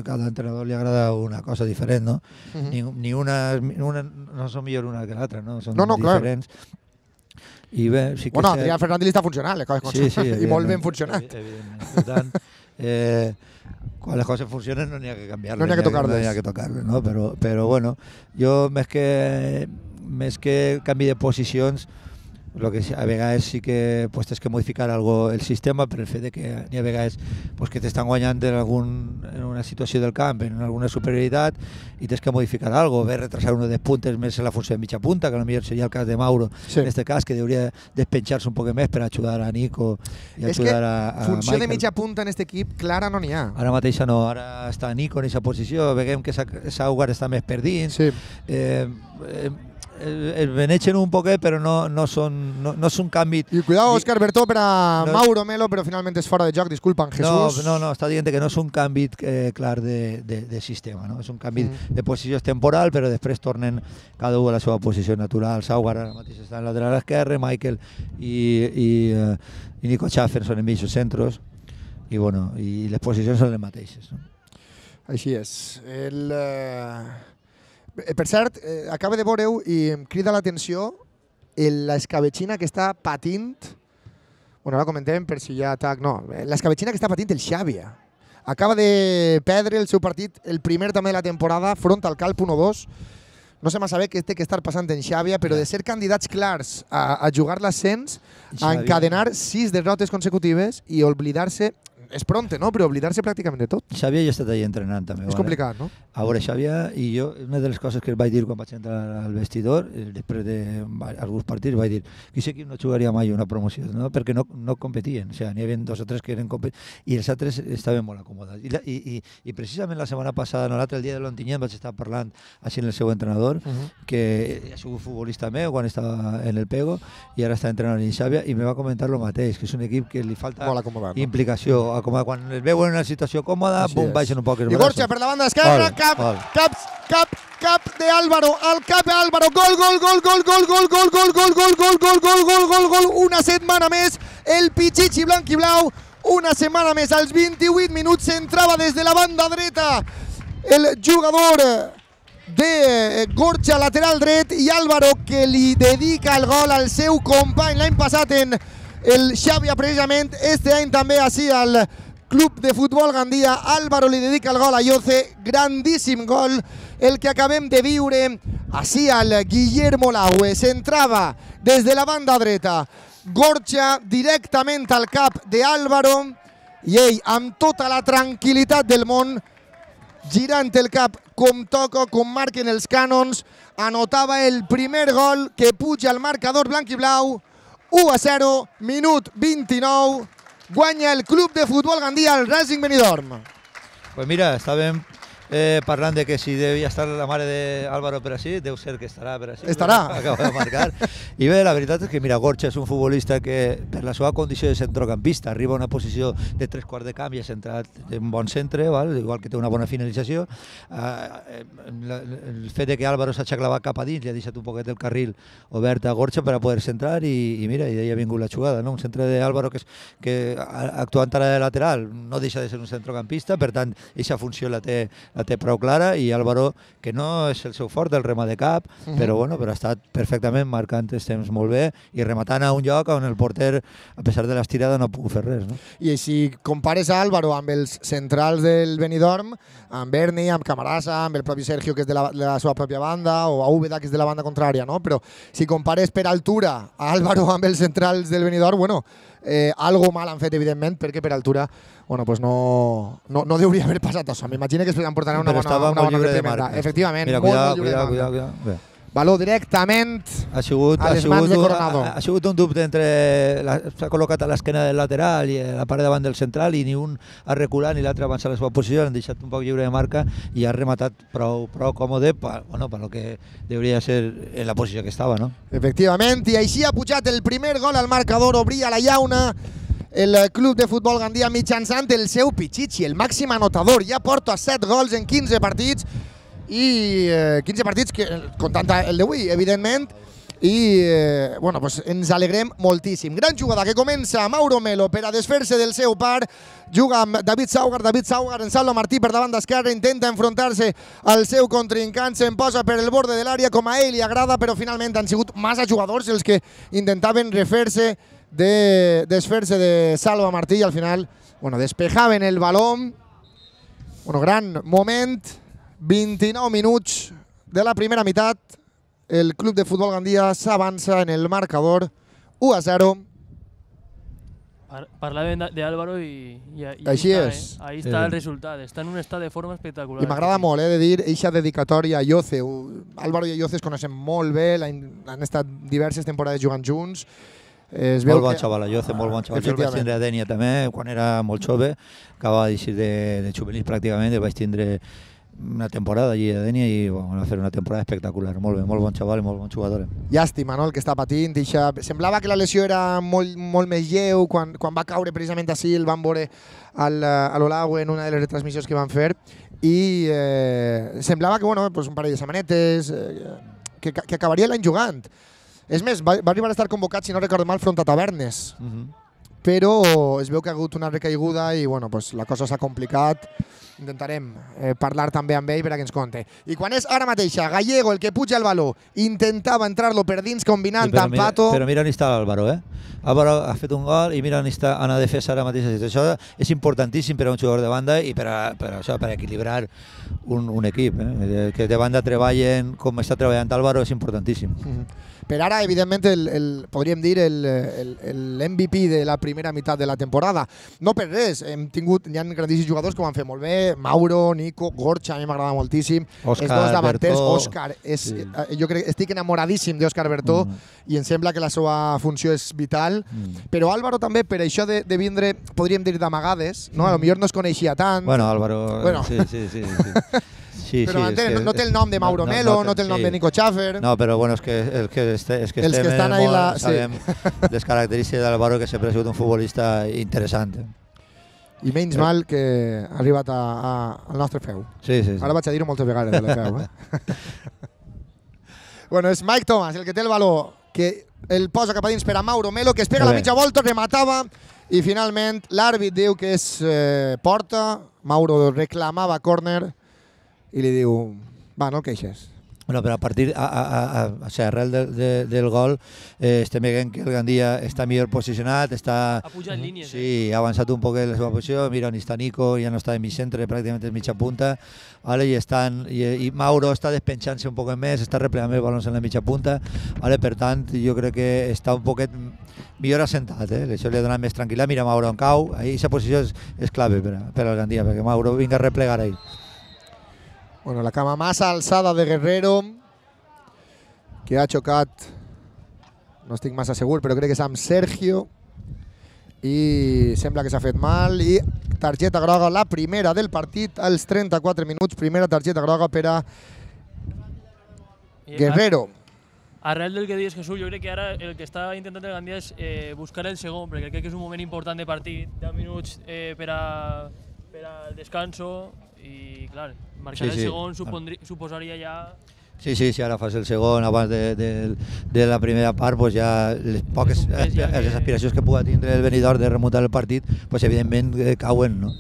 cada entrenador li agrada una cosa diferent, no? Ni una no són millor una que l'altra, no? Són diferents. Bueno, Adrià Fernández li està funcionant, i molt ben funcionat. Per tant, quan les coses funcionen no n'hi ha que canviar-les, no n'hi ha que tocar-les, no? Però bueno, jo més que canvi de posicions, Lo que a vegades sí que pues, tens que modificar algo el sistema per el fet de que n'hi ha vegades pues, que t'estan guanyant en una situació del camp, en alguna superioritat, i tens que modificar algo, ver retrasar uno de puntes més en la funció de mitja punta, que potser seria el cas de Mauro, en este cas, que hauria despenjar-se un poc més per ajudar a Nico i ajudar a Michael. Funció de mitja punta en aquest equip, clara no n'hi ha. Ara mateixa no, ara està Nico en aquesta posició, veiem que Saugar està més per dins, el beneixen un poquet, però no són canvi. I cuidado, Òscar Bertó per a Mauro Melo, però finalment és fora de joc, disculpa, Jesús. No, està dient que no és un canvi clar de sistema, no? És un canvi de posició temporal, però després tornen cada un a la seva posició natural. Saugar ara mateix està en lateral esquerre, Michael i Nico Schaffer són en mitjos centros, i les posicions són les mateixes. Així és. Per cert, acaba de veure-ho i em crida l'atenció l'escabetxina que està patint, ara comentem per si hi ha atac, no, l'escabetxina que està patint el Xàbia. Acaba de perdre el seu partit, el primer també de la temporada, front al Calp 1-2. No sé massa bé què té que estar passant en Xàbia, però de ser candidats clars a jugar l'ascens, a encadenar 6 derrotes consecutives i oblidar-se, és pronte, no? Però oblidar-se pràcticament de tot. Xàbia ja ha estat allà entrenant també. És complicat, no? A veure, Xàbia i jo, una de les coses que vaig dir quan vaig entrar al vestidor, després d'alguns partits, vaig dir que aquest equip no jugaria mai una promoció, no? Perquè no competien. O sigui, n'hi havia 2 o 3 que eren competents i els altres estaven molt acomodats. I precisament la setmana passada, el dia de l'Ontinyent, vaig estar parlant així amb el seu entrenador, que ha sigut futbolista meu quan estava en el Pego i ara està entrenant en Xàbia, i me va comentar el mateix, que és un equip que li falta implicació. Quan es veuen en una situació còmoda, baixen un poc els braços. I Gorcha per la banda esquerra, cap de Álvaro, al cap Álvaro, gol, 1 setmana més, el Pichichi blanc i blau, 1 setmana més, als 28 minuts s'entrava des de la banda dreta el jugador de Gorcha, lateral dret, i Álvaro que li dedica el gol al seu company l'any passat en el Xàbia, precisament, este any també així al Club de Futbol Gandia. Álvaro li dedica el gol a Yoce, grandíssim gol el que acabem de viure així al Guillermo Laue. S'entrava des de la banda dreta, Gorcha directament al cap d'Álvaro i ell, amb tota la tranquil·litat del món, girant el cap com toca, com marquen els cànons, anotava el primer gol que puja al marcador blanc i blau. 1-0, minut 29, guanya el Club de Futbol Gandia el Racing Benidorm. Pues mira, estàvem parlant de que si devia estar la mare d'Álvaro per així, deu ser que estarà per així. Estarà. Acaba de marcar. I bé, la veritat és que, mira, Gorcha és un futbolista que, per la seva condició de centrocampista, arriba a una posició de 3/4 de camp i ha centrat en bon centre, igual que té una bona finalització. El fet de que Álvaro s'ha clavat cap a dins li ha deixat un poquet el carril obert a Gorcha per a poder centrar i mira, i d'ahí ha vingut la jugada, no? Un centre d'Álvaro que actuant ara de lateral no deixa de ser un centrocampista, per tant, aquesta funció la té prou clara, i Álvaro, que no és el seu fort, el rema de cap, però ha estat perfectament marcant els temps molt bé i rematant a un lloc on el porter, a pesar de l'estirada, no ha pogut fer res. I si compares a Álvaro amb els centrals del Benidorm, amb Berni, amb Camarasa, amb el propi Sergio, que és de la seva pròpia banda, o a Úbeda, que és de la banda contrària, no? Però si compares per altura a Álvaro amb els centrals del Benidorm, algo mal han fet, evidentment, perquè per altura no hauria haver passat això. M'imagino que es emportarà una bona reprimenda. Efectivament, molt lliure de marca. Valor directament a les mans de Coronado. Ha sigut un dubte entre... S'ha col·locat a l'esquena del lateral i a la part davant del central, i ni un ha reculat ni l'altre ha avançat a la seva posició, l'han deixat un poc lliure de marca i ha rematat prou còmode per el que hauria de ser en la posició que estava, no? Efectivament, i així ha pujat el primer gol al marcador, obria la llauna el Club de Futbol Gandia mitjançant el seu Pichichi, el màxim anotador. Ja porta 7 gols en 15 partits, i 15 partits comptant el d'avui, evidentment, i ens alegrem moltíssim. Gran jugada que comença Mauro Melo per a desfer-se del seu par, juga amb David Saugar en Salva Martí per davant d'esquerra, intenta enfrontar-se al seu contrincant, se'n posa per el borde de l'àrea com a ell li agrada, però finalment han sigut massa jugadors els que intentaven desfer-se de Salva Martí i al final despejaven el baló. Gran moment, 29 minuts de la primera meitat, el Club de Futbol Gandia s'avança en el marcador 1-0. Parlàvem d'Álvaro i Així és. Ahí està el resultat. Està en un estat de forma espectacular. I m'agrada molt de dir eixa dedicatòria a Yoce. Álvaro i Yoce es coneixen molt bé, han estat diverses temporades jugant junts. Molt bon xaval, Yoce, molt bon xaval. Jo el vaig tindre a Dènia també, quan era molt jove, acabava d'eixir de juvenil pràcticament, el vaig tindre una temporada allí a Dènia i va fer una temporada espectacular. Molt bé, molt bon xaval i molt bon jugador. Llàstima, no?, el que està patint. Semblava que la lesió era molt més lleu. Quan va caure precisament així el van veure a l'Olaue en una de les retransmissions que van fer i semblava que un parell de setmanetes que acabaria l'any jugant. És més, va arribar a estar convocat, si no recordo mal, front a Tavernes. Però es veu que ha hagut una recaiguda i la cosa s'ha complicat. Intentarem parlar també amb ell per a que ens conte. I quan és ara mateixa Gallego el que puja el baló, intentava entrar-lo per dins combinant amb Pato. Però mira on està l'Álvaro, Álvaro ha fet un gol i mira on està a la defensa ara mateix. Això és importantíssim per a un jugador de banda i per equilibrar un equip. Que de banda treballen com està treballant Álvaro és importantíssim. Per ara, evidentment, podríem dir l'MVP de la primera meitat de la temporada. No per res, hi ha grandíssims jugadors que ho han fet molt bé, Mauro, Nico, Gorcha, a mi m'agrada moltíssim. Òscar, els dos davanters, Bertó. Òscar, jo estic enamoradíssim d'Òscar Bertó i em sembla que la seva funció és vital. Però Álvaro també, per això de vindre, podríem dir d'amagades, no? A lo millor no es coneixia tant. Bueno, Álvaro, sí. Però no té el nom de Mauro Melo, no té el nom de Nico Schaffer. No, però bueno, és que estem molt, sabem les característiques d'Álvaro, que sempre ha sigut un futbolista interessant. I menys mal que ha arribat al nostre feu. Sí. Ara vaig a dir-ho moltes vegades, de la feu. Bueno, és Mike Thomas el que té el valor, que el posa cap a dins per a Mauro Melo, que es pega la mitja volta, rematava, i finalment l'àrbit diu que és porta. Mauro reclamava córner i li diu, va, no el queixes. Bueno, però a partir, arrel del gol, estem veient que el Gandia està millor posicionat, ha pujat línies. Sí, ha avançat un poc en la seva posició, mira on està Nico, ja no està en mig centre, pràcticament és mitja punta, i Mauro està despenjant-se un poc més, està replegant els balons en la mitja punta, per tant, jo crec que està un poquet millor assentat, això li ha donat més tranquil·litat. Mira Mauro on cau, aquesta posició és clave per al Gandia, perquè Mauro vinga a replegar ahí. Bueno, la cama massa alçada de Guerrero, que ha xocat, no estic massa segur, però crec que és amb Sergio, i sembla que s'ha fet mal, i targeta groga, la primera del partit, als 34 minuts, primera targeta groga per a Guerrero. Arrel del que dius, Jesús, jo crec que ara el que està intentant el Gandia és buscar el segon, perquè crec que és un moment important de partit, 10 minuts per al descanso, i clar, marcar el segon suposaria ja... Sí, ara fas el segon, abans de la primera part, pues ja les aspiracions que pugui tindre el venidor de remuntar el partit, pues evidentment cauen, no?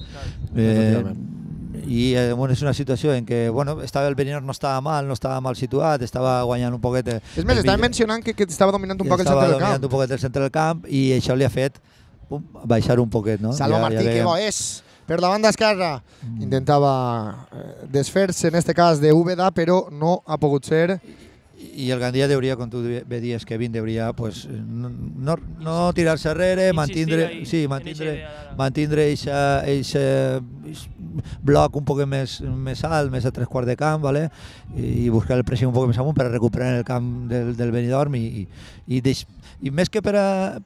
I és una situació en què el venidor no estava mal situat, estava guanyant un poquet... És més, estava mencionant que estava dominant un poc el centre del camp. Estava dominant un poquet el centre del camp i això li ha fet baixar un poquet, no? Salva Martí, que bo és! Per la banda esquerra intentava desfer-se, en aquest cas, de Úbeda, però no ha pogut ser. I el Gandia hauria, com tu bé dies, Kevin, hauria no tirar-se enrere, mantindre aquest bloc un poc més alt, més a 3/4 de camp, i buscar el pressing un poc més amunt per a recuperar el camp del Benidorm i més que per a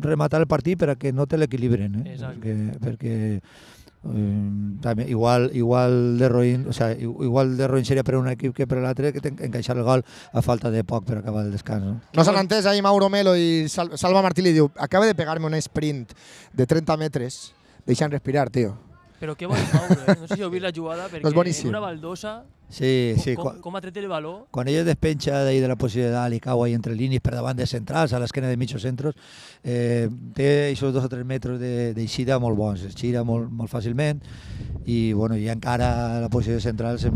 rematar el partit, per a que no te l'equilibren, perquè igual de Roïn seria per un equip que per l'altre, que encaixar el gol a falta de poc per acabar el descans. No s'han entès ahir Mauro Melo i Salva Martí li diu, acaba de pegar-me un sprint de 30 metres, deixa'm respirar, tio. Però què vol Mauro, no sé si heu vist la jugada, perquè en una baldosa, com ha tret el valor. Quan ell es despenja d'ahir de la posició de dalt i cau ahí entre línies per davant de centrals, a l'esquena de mitjos centros, té aquests 2 o 3 metres d'eixida molt bons, es gira molt fàcilment i encara la posició de centrals és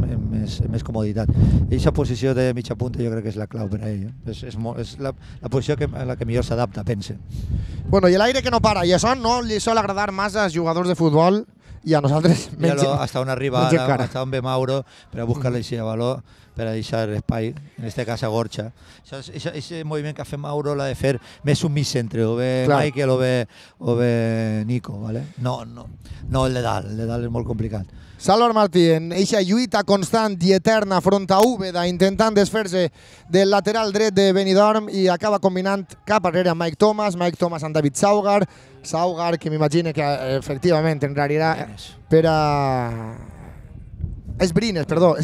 més comoditat. Aquesta posició de mitja punta jo crec que és la clau per a ell. És la posició a la que millor s'adapta, pense. I l'aire que no para, i això no li sol agradar massa als jugadors de futbol, i a nosaltres menys hasta on arriba menys ara, encara. hasta on ve Mauro per a buscar-li aquest valor, per a deixar espai, en este cas a Gorcha. Aquest moviment que ha fet Mauro l'ha de fer més un mig centre, o bé Clar. Michael o bé Nico, ¿vale? No el de dalt és molt complicat. Salvar Martí en eixa lluita constant i eterna front a Úbeda, intentant desfer-se del lateral dret de Benidorm i acaba combinant cap arrere amb Mike Thomas amb David Saugar, que m'imagino que efectivament enrarirà per a... És Brines, perdó.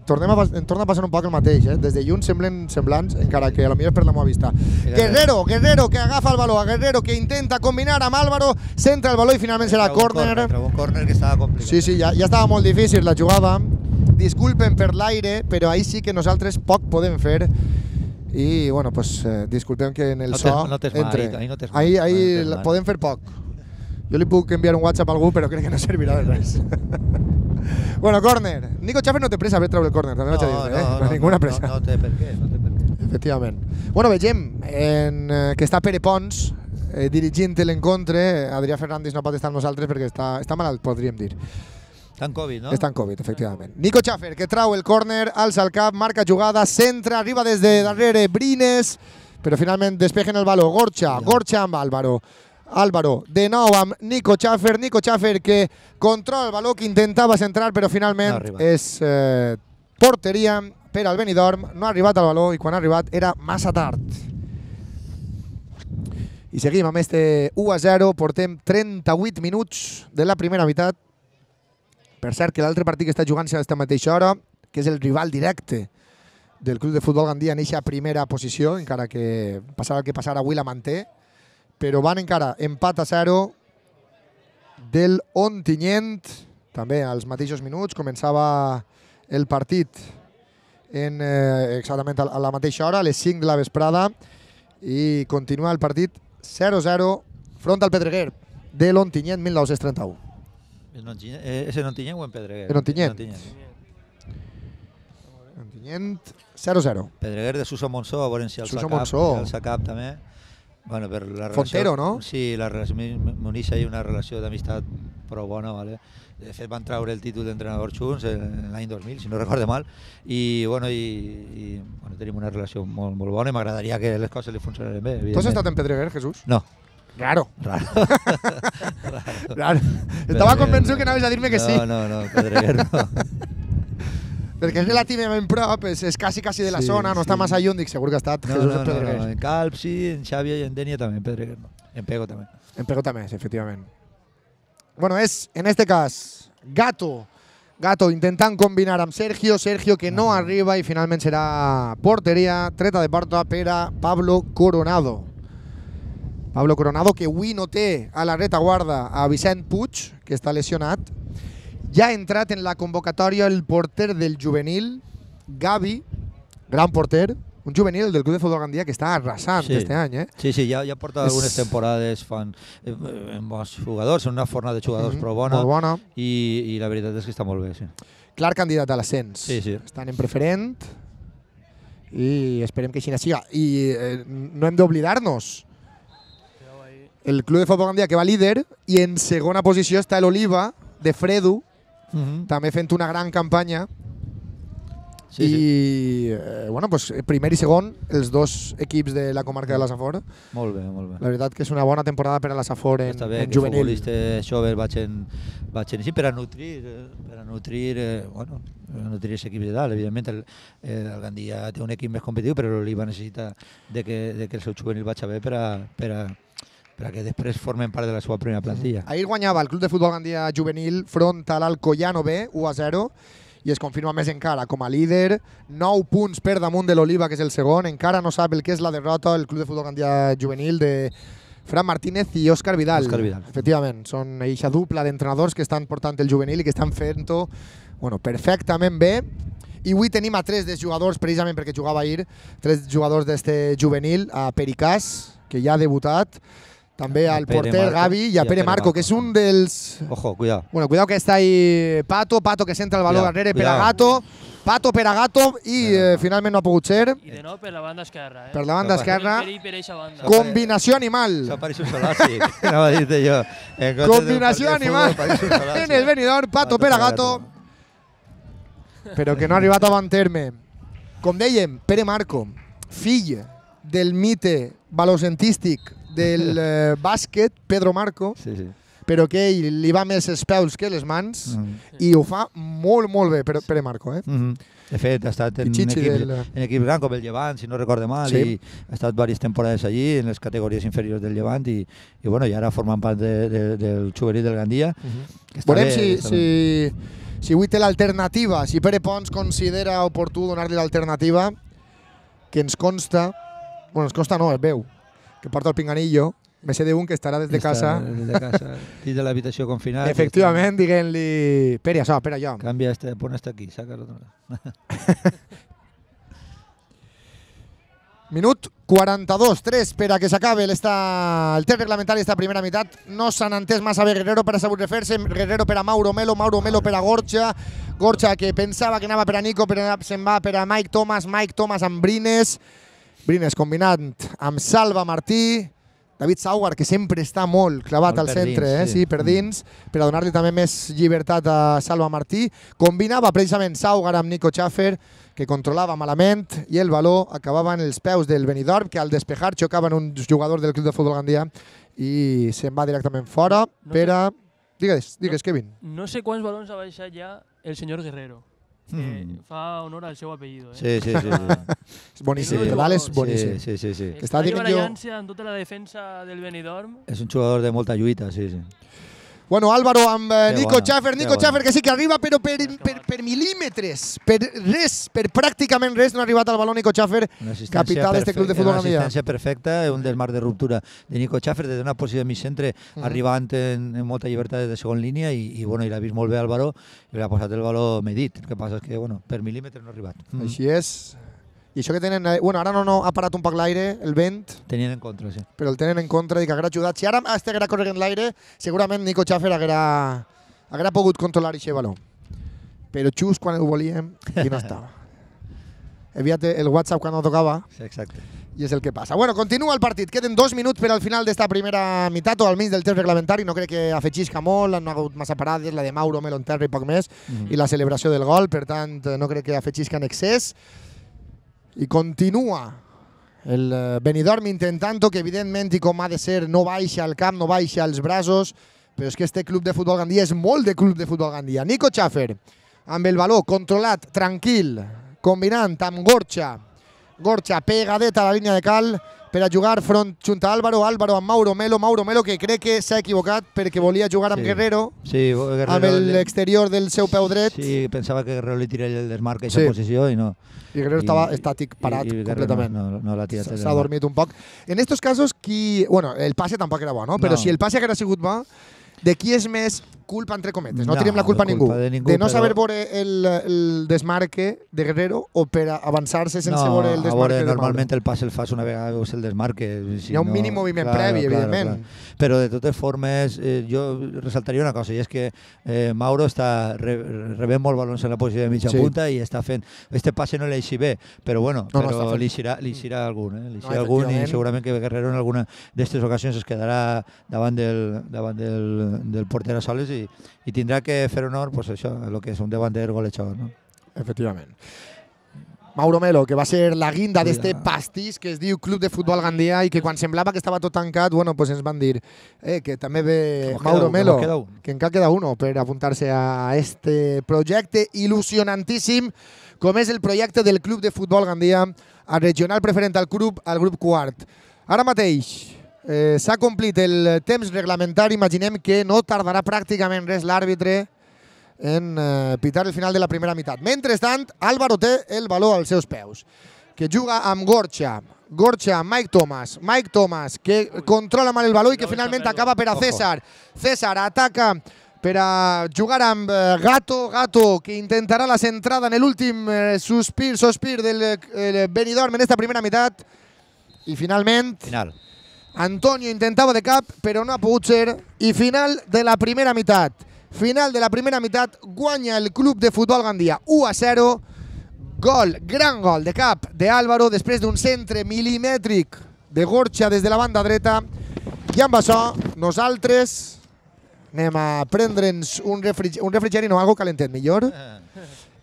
Torna a passar un poc el mateix, des de lluny semblen semblants, encara que potser és per la meva vista. Guerrero que agafa el valor, Guerrero que intenta combinar amb Álvaro, centra el valor i finalment serà córner. Un córner que estava complicat. Sí, ja estava molt difícil la jugada. Disculpen per l'aire, però ahí sí que nosaltres poc podem fer. I, bueno, pues disculpem que en el so entre. Ahí podem fer poc. Jo li puc enviar un WhatsApp a algú, però crec que no servirà de res. Bueno, córner. Nico Schaffer no té pressa per treure el córner, també vaig a dir, no té ninguna pressa. No té per què. Efectivament. Bueno, vegem que està Pere Pons dirigint l'encontre. Adrià Fernández no pot estar amb nosaltres perquè està malalt, podríem dir. Està en Covid, no? Està en Covid, efectivament. Nico Schaffer, que trau el córner, alça el cap, marca jugada, centra, arriba des de darrere Brines, però finalment despegen el valor. Gorcha amb Álvaro, de nou amb Nico Schaffer que controla el valor, que intentava centrar, però finalment és porteria per al Benidorm. No ha arribat al valor i quan ha arribat era massa tard. I seguim amb este 1-0, portem 38 minuts de la primera meitat. Per cert, que l'altre partit que està jugant-se a aquesta mateixa hora, que és el rival directe del Club de Futbol Gandia en eixa primera posició, encara que passarà el que passarà, avui la manté, però van encara empat a 0 del Ontinyent, també als mateixos minuts. Començava el partit exactament a la mateixa hora, a les 5 de la vesprada, i continua el partit 0-0 front al Pedreguer de l'Ontinyent 1931. ¿Es en Ontinyent o en Pedreguer? En Ontinyent. Ontinyent 0-0. Pedreguer de Suso Monsó, a veure si el Sacap també. Bueno, per la relació, Fontero, no? Sí, la relació m'uneix ahí una relació d'amistat prou bona, ¿vale? De fet van treure el títol d'entrenador junts l'any 2000, si no recorde mal, i bueno, tenim una relació molt bona i m'agradaria que les coses li funcionaran bé. Tu has estat en Pedreguer, Jesús? No. Raro. Estava convençut que anaves a dir-me que sí. No, Pedreguer no. Perquè és relativament prop, és quasi de la zona, no està massa lluny, dic, segur que ha estat Jesús en Pedreguer. No, en Calp sí, en Xàbia i en Dènia també, en Pedreguer no. En Pego també. En Pego també, sí, efectivament. Bueno, és, en este cas, Gato intentant combinar amb Sergio que no arriba i finalment serà porteria, treta de porta per a Pablo Coronado. Pablo Coronado, que avui no té a la retaguarda a Vicent Puig, que està lesionat. Ja ha entrat en la convocatòria el porter del juvenil, Gavi, gran porter, un juvenil del Club de Futbol Gandia que està arrasant este any. Sí, ja porta algunes temporades fan bons jugadors, una forna de jugadors prou bona. Molt bona. I la veritat és que està molt bé, sí. Clar candidat a l'ascens. Sí. Estan en preferent i esperem que així siga. I no hem d'oblidar-nos. El Club de Futbol Gandia que va líder i en segona posició està l'Oliva de Fredu, també fent una gran campanya. Bueno, pues, primer i segon, els dos equips de la comarca de la Safor. Molt bé. La veritat que és una bona temporada per a la Safor en juvenil. Està bé que els futbolistes joves vagin així per a nutrir els equips de dalt. Evidentment el Gandia té un equip més competitiu, però l'Oliva necessita que el seu juvenil vagi bé per a que després formen part de la seva primera plantilla. Ahir guanyava el Club de Futbol Gandia juvenil front a l'Alcoyano B, 1-0, i es confirma més encara com a líder, 9 punts per damunt de l'Oliva, que és el segon. Encara no sap el que és la derrota el Club de Futbol Gandia juvenil de Fran Martínez i Òscar Vidal. Efectivament, són eixa dupla d'entrenadors que estan portant el juvenil i que estan fent-ho perfectament bé. I avui tenim a 3 dels jugadors, precisament perquè jugava ahir, 3 jugadors d'este juvenil, a Pericàs, que ja ha debutat, també al porter Gavi i a Pere Marco, que és un dels... Ojo, cuidado. Bueno, cuidado que està ahí Pato que centra el valor darrere per a Gato. Pato per a Gato i finalment no ha pogut ser. I de nou per la banda esquerra. Per la banda esquerra. Per eixa banda. Combinació animal. Això pareix un solàstic, anava a dir-te jo. Combinació animal en el Benidorm, Pato per a Gato. Però que no ha arribat a bon terme. Com dèiem, Pere Marco, fill del mite balocentístic del bàsquet, Pedro Marco, però que ell li va més els peus que les mans i ho fa molt, molt bé, Pere Marco. De fet, ha estat en equip gran com el Llevant, si no recorde mal, i ha estat diverses temporades allí, en les categories inferiors del Llevant, i ara formant part del juvenil del Gandia. Veurem si avui té l'alternativa, si Pere Pons considera oportú donar-li l'alternativa, que ens consta, ens consta no, es veu, que porta el pinganillo, me sé d'un que estarà des de casa. Des de casa, dins de l'habitació confinat. Efectivament, diguent-li, Pere, això, Pere, allò. Canvia, pon este aquí, saca-lo. Minut 42-3 per a que s'acabe el temps reglamentari d'esta primera meitat. No s'han entès massa bé Guerrero per a sabut refer-se, Guerrero per a Mauro Melo per a Gorcha que pensava que anava per a Nico, però se'n va per a Mike Thomas amb Brines combinant amb Salva Martí, David Saugar, que sempre està molt clavat al centre, per dins, per a donar-li també més llibertat a Salva Martí. Combinava precisament Saugar amb Nico Schaffer, que controlava malament, i el baló acabava en els peus del Benidorm, que al despejar xocava en un jugador del Club de Futbol Gandia i se'n va directament fora per a... Digues, Kevin. No sé quants balons ha baixat ja el senyor Guerrero. Fa honor al seu apellido. Sí. És boníssim, el Val és boníssim. Sí. Està barallant-se amb tota la defensa del Benidorm. És un jugador de molta lluita, sí. Bueno, Álvaro amb Nico Schaffer que sí que arriba, però per mil·límetres, per pràcticament res no ha arribat al baló Nico Schaffer, capità d'este Club de Futbol Gandia. Una assistència perfecta, un desmarc de ruptura de Nico Schaffer des d'una posició de mig centre, arribant en molta llibertat de segon línia i l'ha vist molt bé Álvaro i l'ha posat el baló medit. El que passa és que per mil·límetres no ha arribat. Així és. I això que tenen... Bueno, ara no ha parat un poc l'aire, el vent. Tenien en contra, sí. Però el tenen en contra i que haguera ajudat. Si ara estiguera corrent l'aire, segurament Nico Schaffer haguera pogut controlar aquest baló. Però just quan ho volíem i no estava. Enviat el WhatsApp quan no tocava. Sí, exacte. I és el que passa. Bueno, continua el partit. Queden 2 minuts per al final d'esta primera meitat o al mig del temps reglamentari. No crec que afegixca molt, no ha hagut massa parades, la de Mauro Melo en terra i poc més, i la celebració del gol, per tant, no crec que afegixca en excés. I continua el Benidorm intentant que evidentment i com ha de ser no baixa al camp, no baixa als braços, però és que este Club de Futbol Gandia és molt de Club de Futbol Gandia. Nico Schaffer amb el baló controlat, tranquil, combinant amb Gorcha pegadet a la línia de cal per a jugar junt a Álvaro amb Mauro Melo que crec que s'ha equivocat perquè volia jugar amb Guerrero amb l'exterior del seu peu dret. Sí, pensava que Guerrero li tiraria el desmarc a aquesta posició i no. I Guerrero estava estàtic, parat completament. No l'ha tirat. S'ha dormit un poc. En estos casos, bueno, el passe tampoc era bo, no? Però si el passe haguera sigut bo, de qui és més culpa, entre cometes? No tirem la culpa a ningú. De no saber veure el desmarque de Guerrero o per avançar-se sense veure el desmarque de Mauro. Normalment el passe el fas una vegada veus el desmarque. Hi ha un mínim moviment previ, evidentment. Però de totes formes, jo ressaltaria una cosa, i és que Mauro està rebent molt balons en la posició de mitja punta i està fent... Este passe no l'eixi bé, però bueno, li eixirà algun. I segurament que Guerrero en alguna d'aquestes ocasions es quedarà davant del porter a soles i tindrà que fer honor pues això, el que és un davanter golejador, no? Efectivament. Mauro Melo, que va ser la guinda d'este pastís que es diu Club de Futbol Gandia i que quan semblava que estava tot tancat, bueno, pues ens van dir que també ve Mauro Melo, que encara queda uno per apuntar-se a este projecte il·lusionantíssim com és el projecte del Club de Futbol Gandia, a regional preferent al grup quart. Ara mateix s'ha complit el temps reglamentari, imaginem que no tardarà pràcticament res l'àrbitre en pitar el final de la primera meitat. Mentrestant, Álvaro té el baló als seus peus, que juga amb Gorcha, Mike Thomas, que controla mal el baló i que finalment acaba per a César. César ataca per a jugar amb Gato, que intentarà la centrada en l'últim sospir del Benidorm en esta primera meitat. I finalment... Antonio intentava de cap, però no ha pogut ser. I final de la primera meitat. Guanya el Club de Futbol Gandia 1-0 Gol, gran gol de cap d'Álvaro després d'un centre milimètric de Gorcha des de la banda dreta. I amb això, nosaltres anem a prendre'ns un refrigeri, no, algo calentet millor,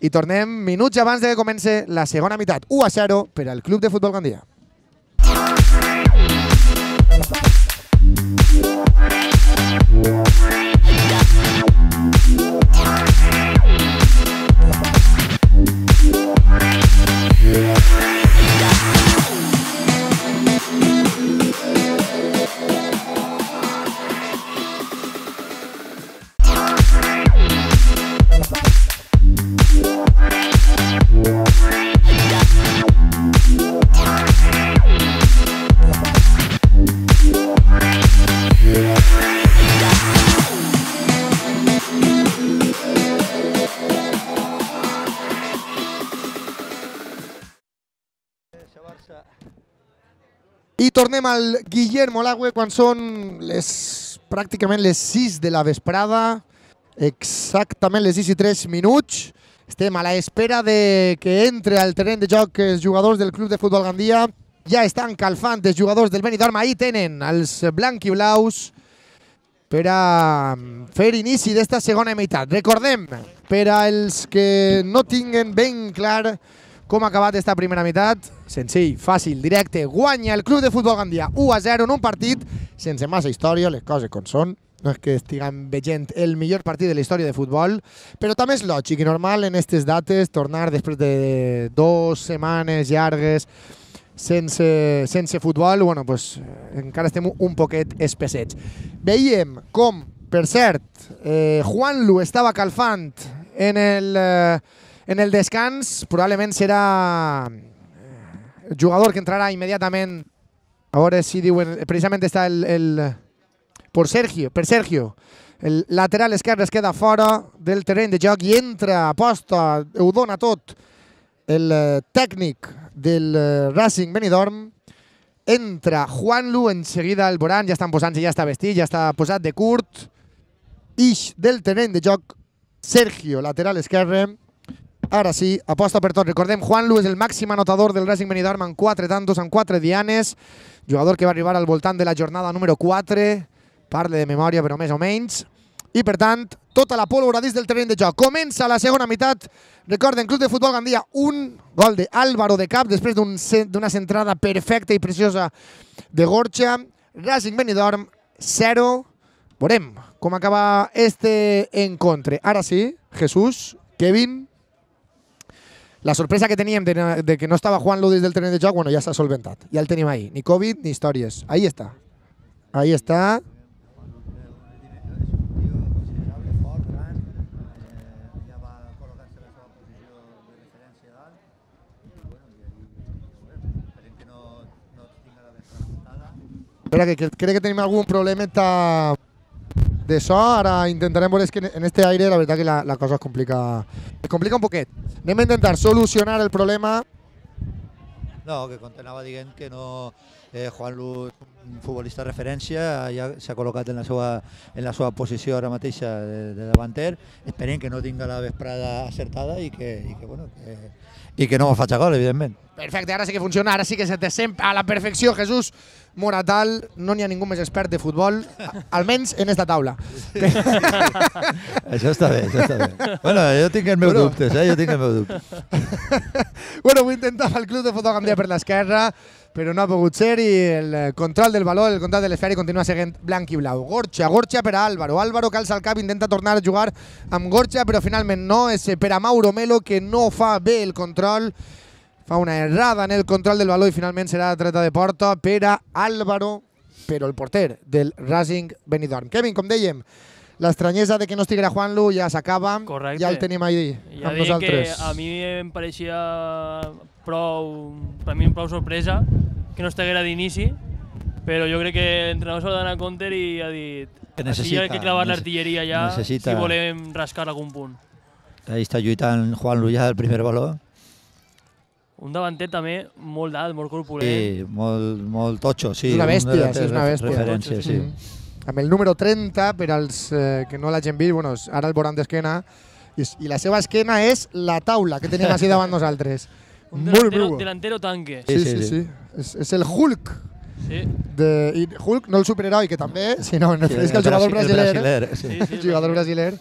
i tornem minuts abans de que comenci la segona meitat. 1-0 per al Club de Futbol Gandia. I tornem al Guillermo Lagüe quan són pràcticament les 6 de la vesprada, exactament les 6:03. Estem a l'espera de que entre al terreny de joc els jugadors del Club de Futbol Gandia. Ja estan calfant els jugadors del Benidorm. Ahí tenen els blanquiblaus per a fer inici d'esta segona meitat. Recordem, per als que no tinguen ben clar com ha acabat esta primera meitat, senzill, fàcil, directe, guanya el Club de Futbol Gandia 1-0 en un partit sense massa història, les coses com són. No és que estiguem veient el millor partit de la història de futbol, però també és lògic i normal en aquestes dates tornar després de 2 setmanes llargues sense futbol, bueno, pues, encara estem un poquet espessets. Veiem com, per cert, Juanlu estava calfant en el descans, probablement serà el jugador que entrarà immediatament. A veure si diuen, precisament està per Sergio, el lateral esquerre es queda fora del terreny de joc i entra, aposta, ho dona tot el tècnic del Racing Benidorm. Entra Juanlu, en seguida el veuran, ja estan posant-se, ja està vestit, ja està posat de curt. Ix del terreny de joc Sergio, lateral esquerre. Ara sí, aposta per tot. Recordem, Juanlu és el màxim anotador del Racing Benidorm amb 4 tantos, amb 4 dianes. Jugador que va arribar al voltant de la jornada número 4. Parle de memòria, però més o menys. I, per tant, tota la pólvora dins del terreny de joc. Comença la segona meitat. Recorden, Club de Futbol Gandia, un gol d'Álvaro de cap després d'una centrada perfecta i preciosa de Gorcha. Racing Benidorm, 0. Veurem com acaba este encontre. Ara sí, Jesús, Kevin. La sorpresa que teníem de que no estava Juanlu des del terreny de joc, bueno, ja s'ha solventat. Ja el tenim ahí. Ni Covid ni històries. Ahí està. Ahí està. Espera, que crec que tenim algun problemeta de so. Ara intentarem veure, que en este aire la veritat que la cosa es complica un poquet. Anem a intentar solucionar el problema. No, que com t'anava dient que no, Juanlu és un futbolista de referència, ja s'ha col·locat en la seva posició ara mateixa de davanter. Esperem que no tinga la vesprada acertada i que no faci gol, evidentment. Perfecte, ara sí que funciona, ara sí que se te sent a la perfecció, Jesús Moratal. No n'hi ha ningú més expert de futbol, almenys en esta taula. Això està bé, això està bé. Bueno, jo tinc els meus dubtes, jo tinc els meus dubtes. Bueno, ho intentava el Club de Futbol Gandia per l'esquerra, però no ha pogut ser i el control del valor, el control de l'esfera continua seguint blanc i blau. Gorcha per a Álvaro. Álvaro calça el cap, intenta tornar a jugar amb Gorcha, però finalment no. És per a Mauro Melo, que no fa bé el control. Fa una errada en el control del valor i finalment serà treta de porta per a Álvaro, però el porter del Racing Benidorm. Kevin, com dèiem, l'estranyesa de que no estiguera Juanlu ja s'acaba. Correcte. Ja el tenim ahí amb nosaltres. Que a mi em pareixia prou sorpresa que no estiguera d'inici, però jo crec que l'entrenador s'ha d'anar a compte i ha dit així hi ha que clavar l'artilleria ja si volem rascar algun punt. Ahí està lluitant Juanlu ja el primer valor. Un davanter també molt d'alt, molt corpulent. Sí, molt totxo, sí. És una bèstia, sí, és una bèstia. Referència, sí. Amb el número 30, per als que no l'hagin vist, bueno, ara el veuran d'esquena, I la seva esquena és la taula que tenim així davant nosaltres. Un Molt brua. delantero tanque. Sí. És el Hulk. Sí. I Hulk, no el superheroi, que també, sinó en refereix al jugador brasiler. El jugador brasiler.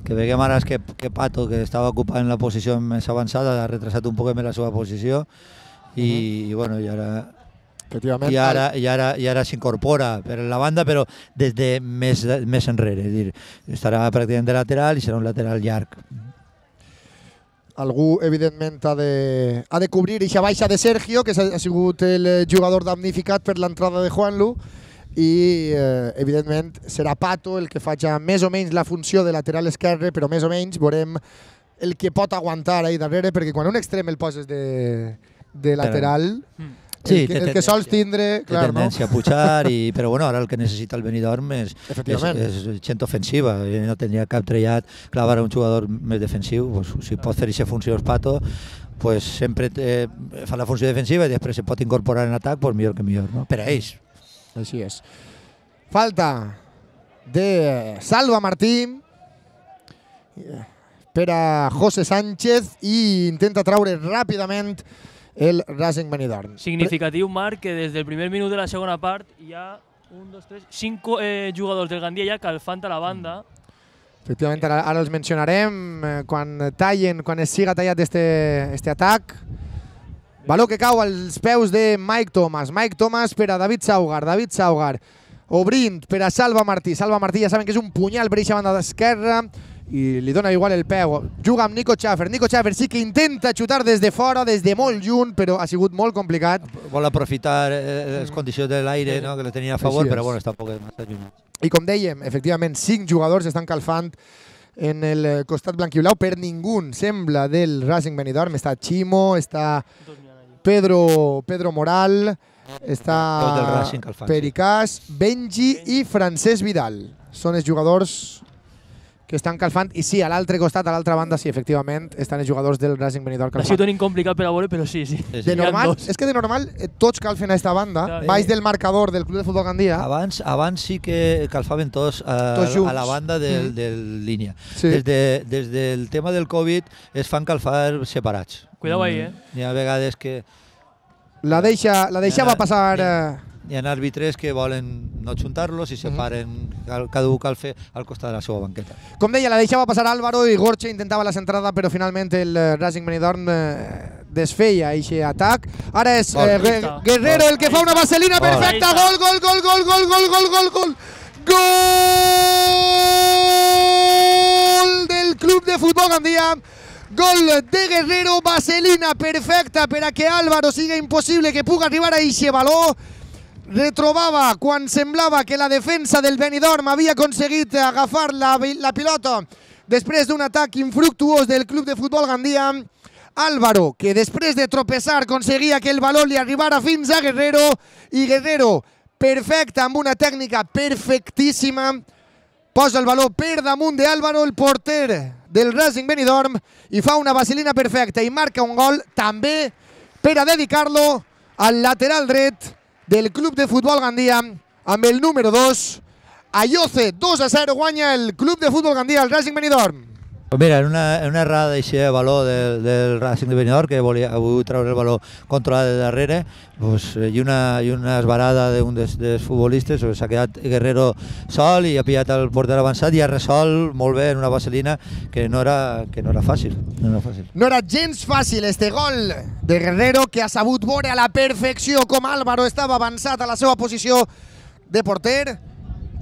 Que veiem ara que Pato, que estava ocupant la posició més avançada, ha retrasat un poc més la seva posició i bueno, i ara s'incorpora per la banda, però des de més enrere. És dir, estarà pràcticament de lateral i serà un lateral llarg. Algú, evidentment, ha de cobrir eixa baixa de Sergio, que ha sigut el jugador damnificat per l'entrada de Juanlu, i, evidentment, serà Pato el que faci més o menys la funció de lateral esquerre, però més o menys veurem el que pot aguantar ahí darrere, perquè quan un extrem el poses de lateral, el que sols tindre, clar, no? Tendència a pujar, però bueno, ara el que necessita el Benidorm és gent ofensiva, no tindria cap trellat clavar un jugador més defensiu. Si pot fer aquesta funció Pato, sempre fa la funció defensiva i després se pot incorporar en atac, millor que millor, no? Per a ells. Així és. Falta de Salva Martí per a José Sánchez i intenta traure ràpidament el Racing Benidorm. Significatiu, Marc, que des del primer minut de la segona part hi ha 5 jugadors del Gandia ja calfant a la banda. Efectivament, ara els mencionarem quan es siga tallat este atac. Valor que cau als peus de Mike Thomas. Mike Thomas per a David Saugar. Obrint per a Salva Martí. Salva Martí ja saben que és un punyal per aquesta banda d'esquerra i li dona igual el peu. Juga amb Nico Schaffer. Nico Schaffer sí que intenta xutar des de fora, des de molt lluny, però ha sigut molt complicat. Vol aprofitar les condicions de l'aire, que le tenia a favor, però bueno, està un poc massa lluny. I com dèiem, efectivament, 5 jugadors estan calfant en el costat blanquiblau. Per ningú sembla del Racing Benidorm. Està Chimo, està Pedro Moral, està Pericàs, Benji i Francesc Vidal. Són els jugadors que estan calfant. I sí, a l'altre costat, a l'altra banda, sí, efectivament, estan els jugadors del Racing Benidorm calfant. Ha sigut un complicat per a veure, però sí. És que de normal tots calfen a esta banda, baix del marcador del Club de Futbol Gandia. Abans sí que calfaven tots a la banda de línia. Des del tema del Covid es fan calfar separats. Cuidao ahí, Hi ha vegades que... La deixava passar... Hi ha àrbitres que volen no juntar-los i separen, cada un cal fer al costat de la seva banqueta. Com deia, la deixava passar Álvaro i Gorche intentava la centrada, però finalment el Racing Benidorm desfeia aquest atac. Ara és Guerrero el que fa una vaselina perfecta. Gol! Gol del Club de Futbol Gandia. Gol de Guerrero, vaselina perfecta per a que Álvaro siga impossible que pugui arribar a aquest valor. Retrobava quan semblava que la defensa del Benidorm havia aconseguit agafar la pilota després d'un atac infructuós del Club de Futbol Gandia. Álvaro, que després de tropeçar aconseguia que el valor li arribara fins a Guerrero, i Guerrero, perfecte, amb una tècnica perfectíssima, posa el valor per damunt d'Álvaro, el porter del Racing Benidorm, i fa una vaselina perfecta i marca un gol també per a dedicar-lo al lateral dret del Club de Futbol Gandia amb el número 2. Ayoce, 2-0, guanya el Club de Futbol Gandia al Racing Benidorm. Mira, en una errada d'aquest valor del Racing de Benidorm, que volia treure el valor controlat de darrere, i una esbarada d'un dels futbolistes, s'ha quedat Guerrero sol i ha pillat el porter avançat i ha resolt molt bé en una vaselina que no era fàcil. No era gens fàcil este gol de Guerrero, que ha sabut veure a la perfecció com Álvaro estava avançat a la seva posició de porter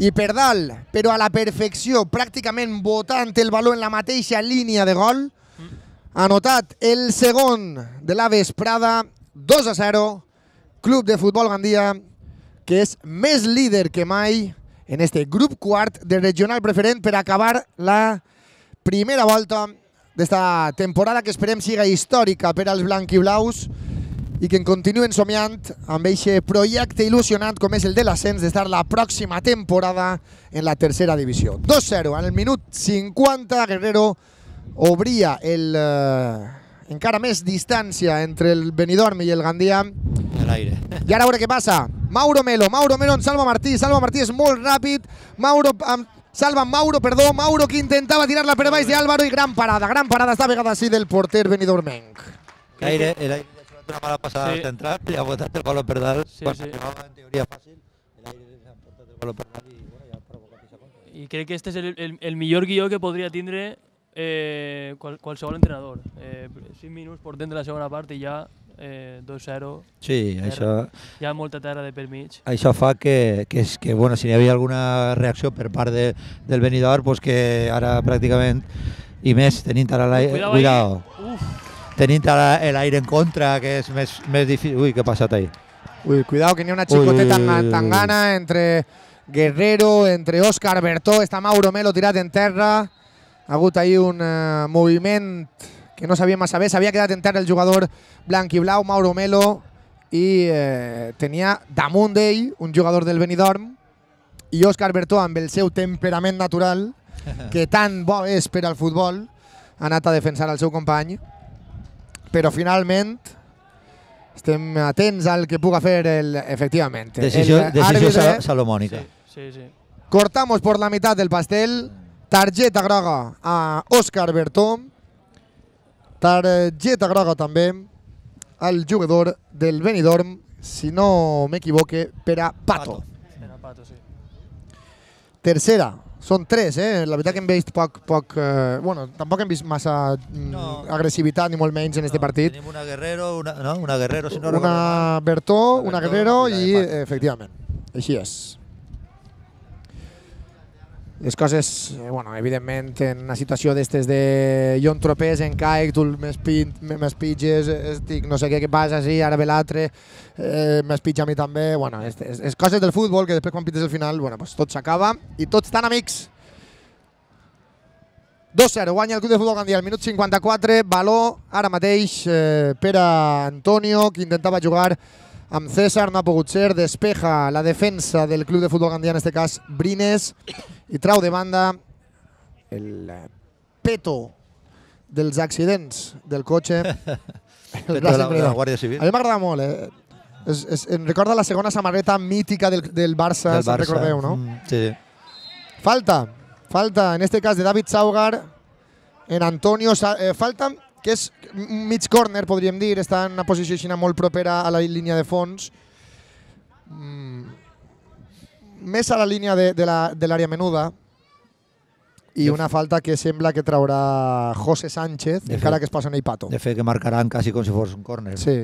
i per dalt, però a la perfecció, pràcticament botant el valor en la mateixa línia de gol. Ha anotat el segon de la vesprada, 2-0, Club de Futbol Gandia, que és més líder que mai en este grup quart de regional preferent per acabar la primera volta d'esta temporada, que esperem siga històrica per als blanquiblaus i que en continuen somiant amb aquest projecte il·lusionant com és el de l'ascens d'estar la pròxima temporada en la tercera divisió. 2-0, en el minut 50, Guerrero obria encara més distància entre el Benidorm i el Gandia. I ara a veure què passa. Mauro Melo en Salva Martí. Salva Martí és molt ràpid. Mauro Salva Mauro, perdó, Mauro que intentava tirar-la per baix d'Álvaro i gran parada esta vegada sí del porter benidormenc. El aire ha hecho una mala pasada central y ha botado el balón per dalt. Cuando llevaba en teoría fácil, el aire le ha portat el balón per dalt y bueno, ya ha provocat esa contra. I crec que este és el millor guió que podria tindre qualsevol entrenador. 5 minuts portem de la segona part i ja 2-0. Sí, això... Hi ha molta terra de per mig. Això fa que bueno, si hi havia alguna reacció per part del Benidorm, pues que ara pràcticament, i més tenint ara l'aire... Cuidado. Tenint ara l'aire en contra, que és més difícil... Ui, què ha passat ahí? Ui, cuidado, que n'hi ha una xicoteta tangana entre Guerrero, entre Óscar Bertó, està Mauro Melo tirat en terra. Ha hagut ahí un moviment que no sabia massa bé, s'havia quedat en terra el jugador blanc i blau, Mauro Melo, i tenia damunt d'ell un jugador del Benidorm i Óscar Bertó, amb el seu temperament natural, que tan bo és per al futbol, ha anat a defensar el seu company, però finalment estem atents al que puga fer efectivament. Decisió salomònica. Sí. Cortamos por la mitad del pastel, targeta groga a Óscar Bertó, targeta groga també al jugador del Benidorm, si no m'equivoque, per a Pato. Sí. Tercera, són 3, la veritat que hem vist poc bueno, tampoc hem vist massa agressivitat ni molt menys en este partit. Tenim una Guerrero, una Guerrero, si no una Bertó, una Guerrero i efectivament, així és. Les coses, bueno, evidentment, en una situació d'estes de jo em tropés, em caic, tu m'espitges, estic no sé què passa, sí, ara ve l'altre, m'espitja a mi també, bueno, és coses del futbol que després quan pites el final, bueno, pues tot s'acaba i tots estan amics. 2-0, guanya el Club de Futbol Gandia al minut 54, baló ara mateix per a Antonio, que intentava jugar amb César, no ha pogut ser, despeja la defensa del Club de Futbol Gandia, en aquest cas Brines, i trau de banda el peto dels accidents del cotxe. Peto de la Guàrdia Civil. A mi m'agrada molt, em recorda la segona samarreta mítica del Barça, se'n recordeu, no? Sí. Falta, en este cas de David Saugar, en Antonio, falta que és mig córner, podríem dir, està en una posició així molt propera a la línia de fons, més a la línia de l'àrea menuda, i una falta que sembla que traurà José Sánchez, encara que es posa en ell Pato. De fet, que marcaran quasi com si fos un córner. Sí.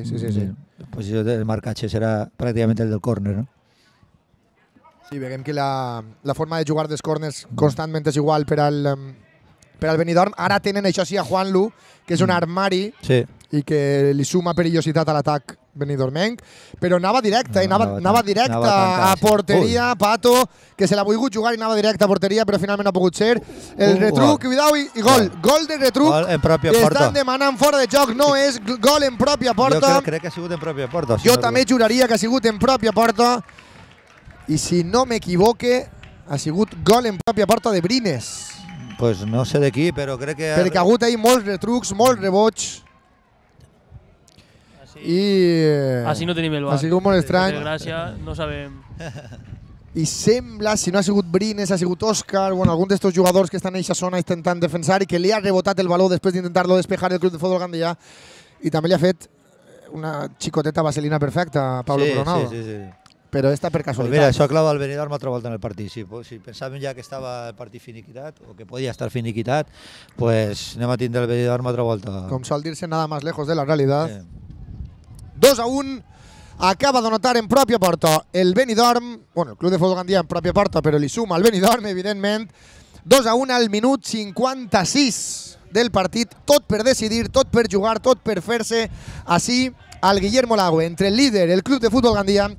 La posició del marcatge serà pràcticament el del córner, no? Sí, veiem que la forma de jugar dels córners constantment és igual per al Benidorm. Ara tenen, això sí, a Juanlu, que és un armari i que li suma perillositat a l'atac benidormenc, però anava directe, anava directe a porteria, Pato, que se l'ha volgut jugar i anava directe a porteria, però finalment no ha pogut ser. El retruc, cuidao, i gol. Gol de retruc. Gol en pròpia porta. Estan demanant fora de joc, no és gol en pròpia porta. Jo crec que ha sigut en pròpia porta. Jo també juraria que ha sigut en pròpia porta, i si no m'equivoque, ha sigut gol en pròpia porta de Brines. Pues no sé de qui, però crec que... Perquè ha hagut ahí molts retrucs, molts rebots. Així no tenim el bar. Ha sigut molt estrany. Per gràcia, no sabem. I sembla, si no ha sigut Brines, ha sigut Òscar, bueno, algun d'estos jugadors que estan en aquesta zona intentant defensar i que li ha rebotat el baló després d'intentar-lo despejar el Club de Futbol Gandia, i també li ha fet una xicoteta vaselina perfecta a Pablo Coronado. Sí. Però esta per casualitat. Mira, això clava el Benidorm altra volta en el partit. Si pensàvem ja que estava el partit finiquitat, o que podia estar finiquitat, pues anem a tindre el Benidorm altra volta. Com sol dir-se, nada más lejos de la realidad. 2-1, acaba d'anotar en pròpia porta el Benidorm, bueno, el Club de Futbol Gandia en pròpia porta, però li suma el Benidorm, evidentment. 2-1 al minut 56 del partit, tot per decidir, tot per jugar, tot per fer-se així al Guillermo Lago, entre el líder, el Club de Futbol Gandia,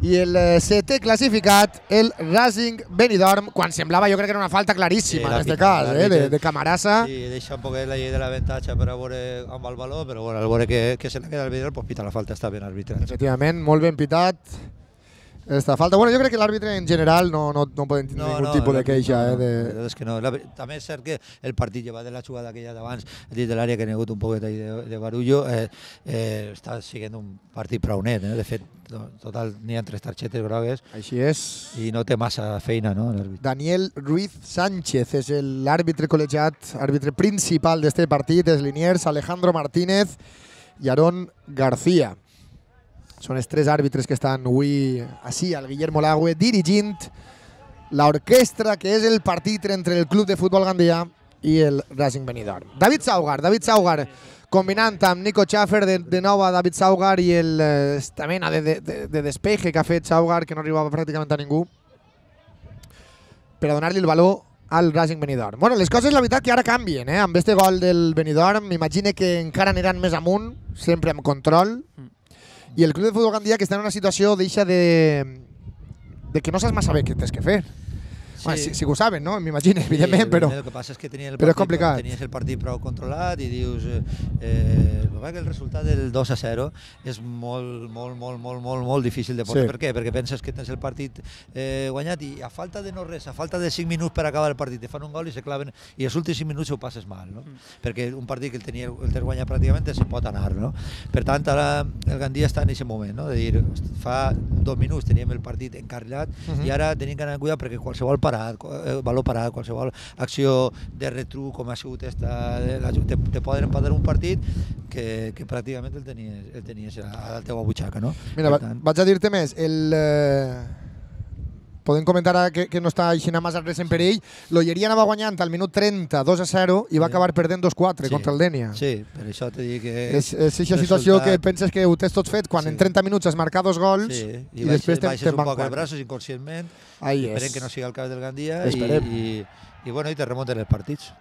i el setè classificat, el Racing Benidorm, quan semblava, jo crec que era una falta claríssima en aquest cas, de Camarasa. Sí, deixa un poquet la llei de l'avantatge per a veure amb el valor, però bueno, al veure que se la queda el Benidorm, pues pita la falta, està ben arbitrat. Efectivament, molt ben pitat. esta falta. Bueno, jo crec que l'àrbitre en general no poden tenir ningún tipus de queixa. És que no. També és cert que el partit llevat de la jugada aquella d'abans dins de l'àrea, que hi ha hagut un poquet de barullo, està sent un partit prou net. De fet, total, n'hi ha 3 targetes grogues. Així és. I no té massa feina, no? Daniel Ruiz Sánchez és l'àrbitre col·legiat, àrbitre principal d'este partit, els liniers Alejandro Martínez i Aarón García. Són els 3 àrbitres que estan avui així al Guillermo Lagüe dirigint l'orquestra que és el partit entre el Club de Futbol Gandia i el Racing Benidorm. David Saugar, combinant amb Nico Schaffer, de nou a David Saugar i esta mena de despeje que ha fet Saugar, que no arribava pràcticament a ningú, per a donar-li el valor al Racing Benidorm. Bueno, les coses, la veritat, que ara canvien. Amb este gol del Benidorm, m'imagine que encara aniran més amunt, sempre amb control, i el Club de Futbol Gandia, que està en una situació deixa de que no saps massa bé què tens que fer. Sí. Bueno, sí que ho saben, no? M'imagino, evidentment, però... El que passa és que tenies el partit prou controlat i dius que el resultat del 2-0 és molt difícil de portar. Sí. Per què? Perquè penses que tens el partit guanyat i a falta de no res, a falta de 5 minuts per acabar el partit, te fan un gol i se claven i els últims 5 minuts ho passes mal, no? Perquè un partit que el tens guanyat pràcticament se pot anar, no? Per tant, ara el Gandia està en aquest moment, no? De dir, fa 2 minuts teníem el partit encarrilat i ara tenim que anar amb cuidado perquè qualsevol valor parat, qualsevol acció de retruc com ha sigut te poden empatar un partit que pràcticament el tenies a la teva butxaca, no? Mira, vaig a dir-te més, podem comentar ara que no està així massa res en perill. L'Olleria anava guanyant al minut 30, 2-0, i va acabar perdent 2-4 contra el Dènia. Sí, per això t'he dit que... És aquesta situació que penses que ho tens tot fet quan en 30 minuts has marcat 2 gols i després baixes un poc els braços inconscientment, esperem que no sigui el cas del Gandia i te remunten els partits.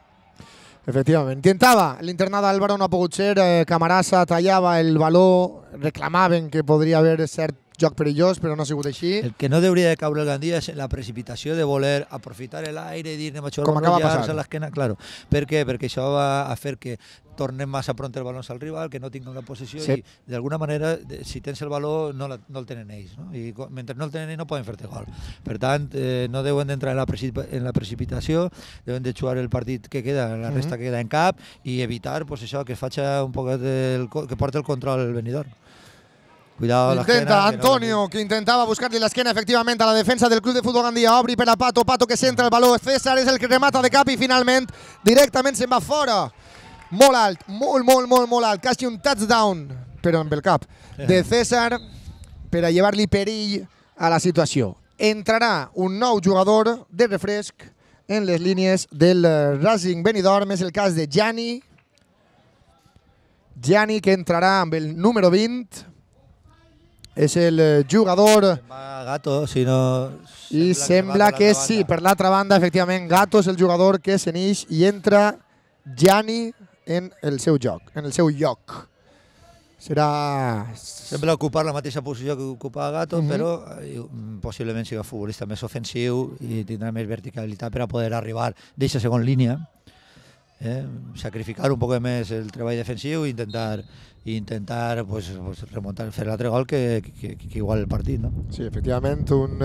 Efectivament. Intentava l'internada Álvaro, no ha pogut ser, Camarasa tallava el valor, reclamaven que podria haver cert joc perillós, però no ha sigut així. El que no hauria de caure el Gandia és la precipitació de voler aprofitar l'aire i dir anem a com acaba passant a l'esquena. Claro. Per què? Perquè això va a fer que tornem massa pront el baló al rival, que no tinguin la possessió i d'alguna manera, si tens el baló, no el tenen ells. No? I mentre no el tenen ells no poden fer-te gol. Per tant, no deuen d'entrar en la precipitació, deuen de jugar el partit que queda, la resta que queda en cap i evitar això que faci un poc que porti el control el Benidorm. Cuidado, intenta Antonio, que intentava buscar-li l'esquena efectivament a la defensa del Club de Futbol Gandia. Obri per a Pato que centra el baló. César és el que remata de cap i finalment directament se'n va fora. Molt alt, molt alt. Quasi un touchdown, però amb el cap, de César per a llevar-li perill a la situació. Entrarà un nou jugador de refresc en les línies del Racing Benidorm. És el cas de Gianni, que entrarà amb el número 20. És el jugador... Gato, si no... I sembla que sí, per l'altra banda, efectivament, Gato és el jugador que s'enix i entra Gianni en el seu joc, en el seu lloc. Serà... Sembla ocupar la mateixa posició que ocupa Gato, però possiblement sigui futbolista més ofensiu i tindrà més verticalitat per a poder arribar d'aquesta segona línia, sacrificar un poc més el treball defensiu i intentar remuntar, fer l'altre gol que igual el partit, no? Sí, efectivament, un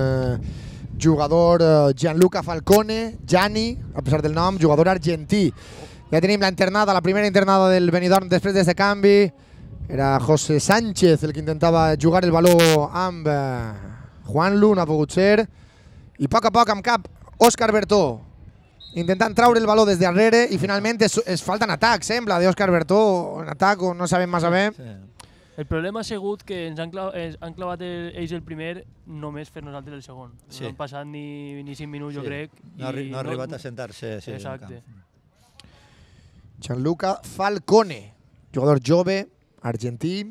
jugador Gianluca Falcone, Gianni, a pesar del nom, jugador argentí. Ja tenim la internada, la primera internada del Benidorm després d'aquest canvi. Era José Sánchez el que intentava jugar el baló amb Juanlu, no ha pogut ser. I a poc amb cap, Òscar Bertó, intentant traure el baló des de darrere i finalment es falta en atac, sembla, d'Òscar Bertó, en atac o no sabem massa bé. El problema ha sigut que ens han clavat ells el primer només fer nosaltres el segon. No han passat ni 5 minuts, jo crec. No ha arribat a sentar-se. Exacte. Gianluca Falcone, jugador jove, argentí,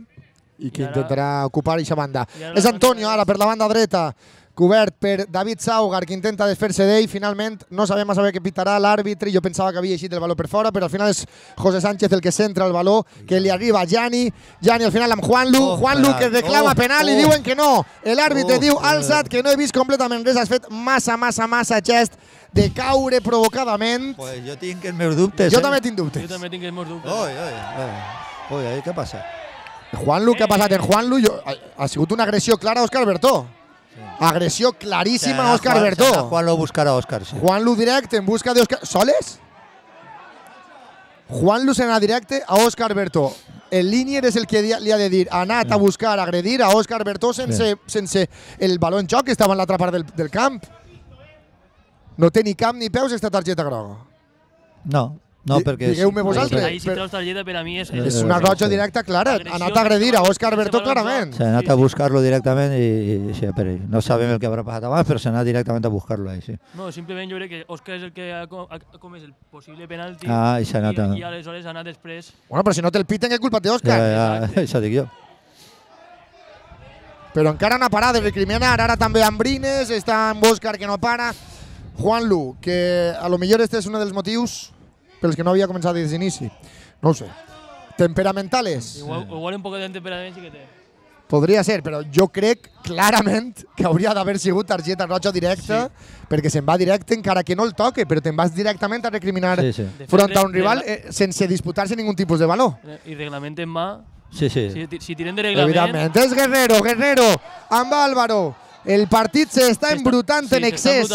i que intentarà ocupar aquesta banda. És Antonio ara per la banda dreta, cobert per David Saugar, que intenta desfer-se d'ell. Finalment no sabem massa bé què pitarà l'àrbitre. Jo pensava que havia eixit el baló per fora, però al final és José Sánchez el que centra el baló, que li arriba a Gianni. Gianni al final amb Juanlu, que reclama penal i diuen que no. L'àrbitre diu alçat, que no he vist completament res. Has fet massa gest de caure provocadament. Pues jo tinc els meus dubtes. Jo també tinc dubtes. Jo també tinc els meus dubtes. Què passa? Juanlu, què ha passat en Juanlu? Ha sigut una agressió clara a Òscar Bertó. Agressió claríssima a Òscar Bertó. Juanlu a buscar a Òscar. Sí. Juanlu directe en busca d'Òscar. ¿Soles? Juanlu se n'ha directe a Òscar Bertó. El línier és el que li ha de dir, ha anat a buscar, a agredir a Òscar Bertó sense el baló en joc que estava en l'altra part del camp. No té ni camp ni peus esta targeta groga. No, perquè... Digueu-me vosaltres. Ahí si treus targeta per a mi és una roja directa clara. Ha anat a agredir a Òscar Bertó clarament. S'ha anat a buscar-lo directament i sí, però no sabem el que haurà passat abans, però s'ha anat directament a buscar-lo ahí, sí. No, simplement jo crec que Òscar és el que ha comès el possible penalti i s'ha anat i aleshores ha anat després... Bueno, però si no té el piten, què culpa té Òscar? Ja, això dic jo. Però encara no ha parat de recriminar, ara també Ambrines, està amb Òscar que no para. Juanlu, que a lo millor este és un dels motius pels que no havia començat des d'inici. No ho sé. Temperamentales? Igual un poc de temperament sí que té. Podria ser, però jo crec clarament que hauria d'haver sigut targeta roja directa, perquè se'n va directe encara que no el toque, però te'n vas directament a recriminar front a un rival sense disputar-se ningun tipus de valor. I reglament en mà, sí. Si tiren de reglament... Evidentment, és Guerrero, amb Álvaro. El partit s'està embrutant en excés.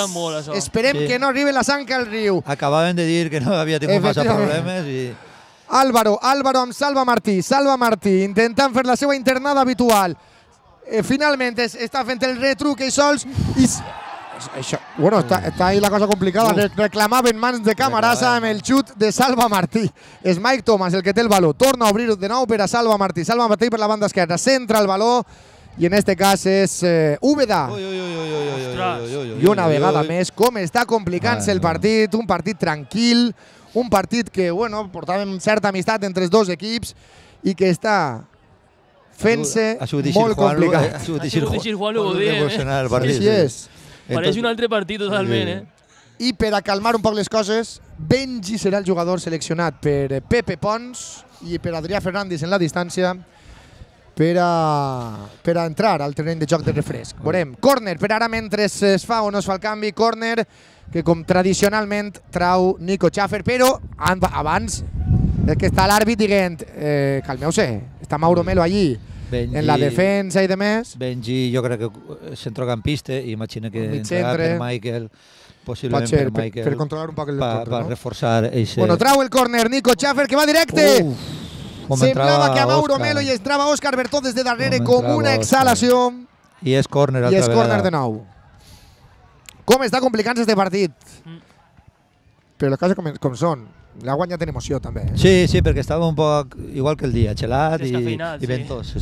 Esperem que no arribi la sang al riu. Acabaven de dir que no havia tingut massa problemes i... Álvaro amb Salva Martí, intentant fer la seva internada habitual. Finalment està fent el retruc i sols. Bueno, està ahí la cosa complicada. Reclamaven mans de Camarasa amb el xut de Salva Martí. És Mike Thomas el que té el baló. Torna a obrir de nou per a Salva Martí. Salva Martí per la banda esquerra. Centra el baló. I en este cas és Úbeda. I una vegada més, com està complicant-se el partit. Un partit tranquil. Un partit que, bueno, portàvem certa amistat entre els dos equips i que està fent-se molt complicat. Ha sigut difícil Juanlu, ho diem, Així és. Pareix un altre partit totalment, I per a calmar un poc les coses, Benji serà el jugador seleccionat per Pepe Pons i per Adrià Fernández en la distància per a entrar al terreny de joc de refresc. Veurem, córner per ara mentre es fa o no es fa el canvi, córner que com tradicionalment trau Nico Schaffer, però abans és que està l'àrbit dient calmeu-se, està Mauro Melo allí en la defensa i demés. Benji jo crec que és centrocampista i imagina que entrarà per Michael, possiblement per Michael, per controlar un poc el control, per reforçar eixe... Bueno, trau el córner Nico Schaffer que va directe. Semblava que a Mauro Melo i entrava Òscar Bertó des de darrere com una exhalació. I és córner altra vegada. I és córner de nou. Com està complicant-se este partit. Però les coses com són. L'ha guanyat en emoció també. Sí, perquè estava un poc igual que el dia, gelat i ventós.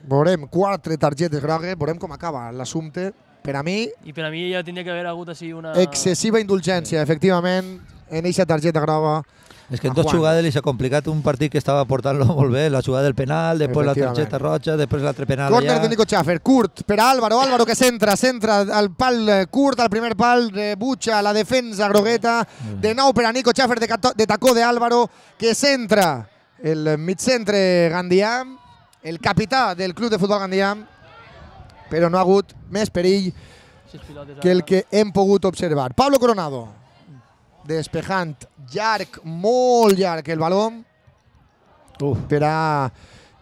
Veurem 4 targetes grogues, veurem com acaba l'assumpte. Per a mi... I per a mi ja tindria que haver hagut així una... excessiva indulgència, efectivament, en aquesta targeta groga. És que en dos jugades li s'ha complicat un partit que estava portant-lo molt bé, la jugada del penal, després la targeta roja, després l'altre penal allà. Córner de Nico Schaffer, curt per a Álvaro que centra al pal curt, al primer pal, rebutja la defensa grogueta, de nou per a Nico Schaffer de tacó de Álvaro, que centra el migcentre Gandià, el capità del Club de Futbol Gandià, però no ha hagut més perill que el que hem pogut observar. Pablo Coronado, despejant llarg, molt llarg el baló per a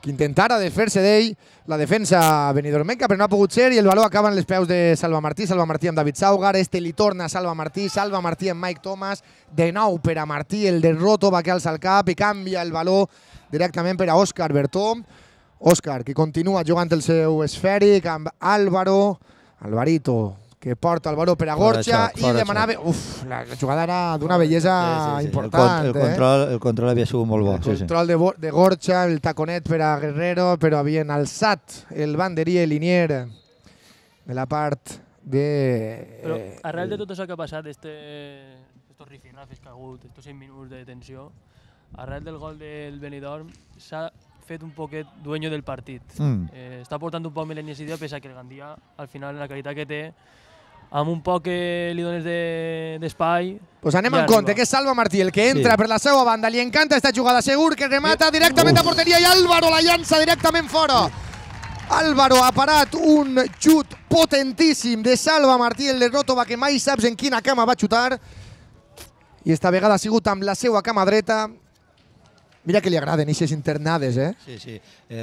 que intentara desfer-se d'ell la defensa benidormenca, però no ha pogut ser i el baló acaba en les peus de Salva Martí amb David Saugar, li torna a Salva Martí amb Mike Thomas, de nou per a Martí, el de Roto va que alça el cap i canvia el baló directament per a Òscar Bertó. Òscar, que continua jugant el seu esfèric amb Alvarito, que porta el baló per a Gorcha i demanava... La jugada era d'una bellesa important. El control havia sigut molt bo. El control de Gorcha, el taconet per a Guerrero, però havien alçat el banderí i el linier de la part de... Però arrel de tot això que ha passat, estos rifirrafes que ha hagut, estos 5 minuts de tensió, arrel del gol del Benidorm, s'ha fet un poquet dueño del partit. Està portant un poc més la iniciativa, pese a que el Gandia, al final, en la qualitat que té, amb un poc que li dones d'espai... Pues anem en compte, que és Salva Martí el que entra per la seva banda, li encanta esta jugada, segur que remata directament a porteria i Álvaro la llança directament fora. Álvaro ha parat un xut potentíssim de Salva Martí, el de Rotova, que mai saps en quina cama va xutar, i esta vegada ha sigut amb la seva cama dreta. Mira que li agraden eixes internades, eh? Sí.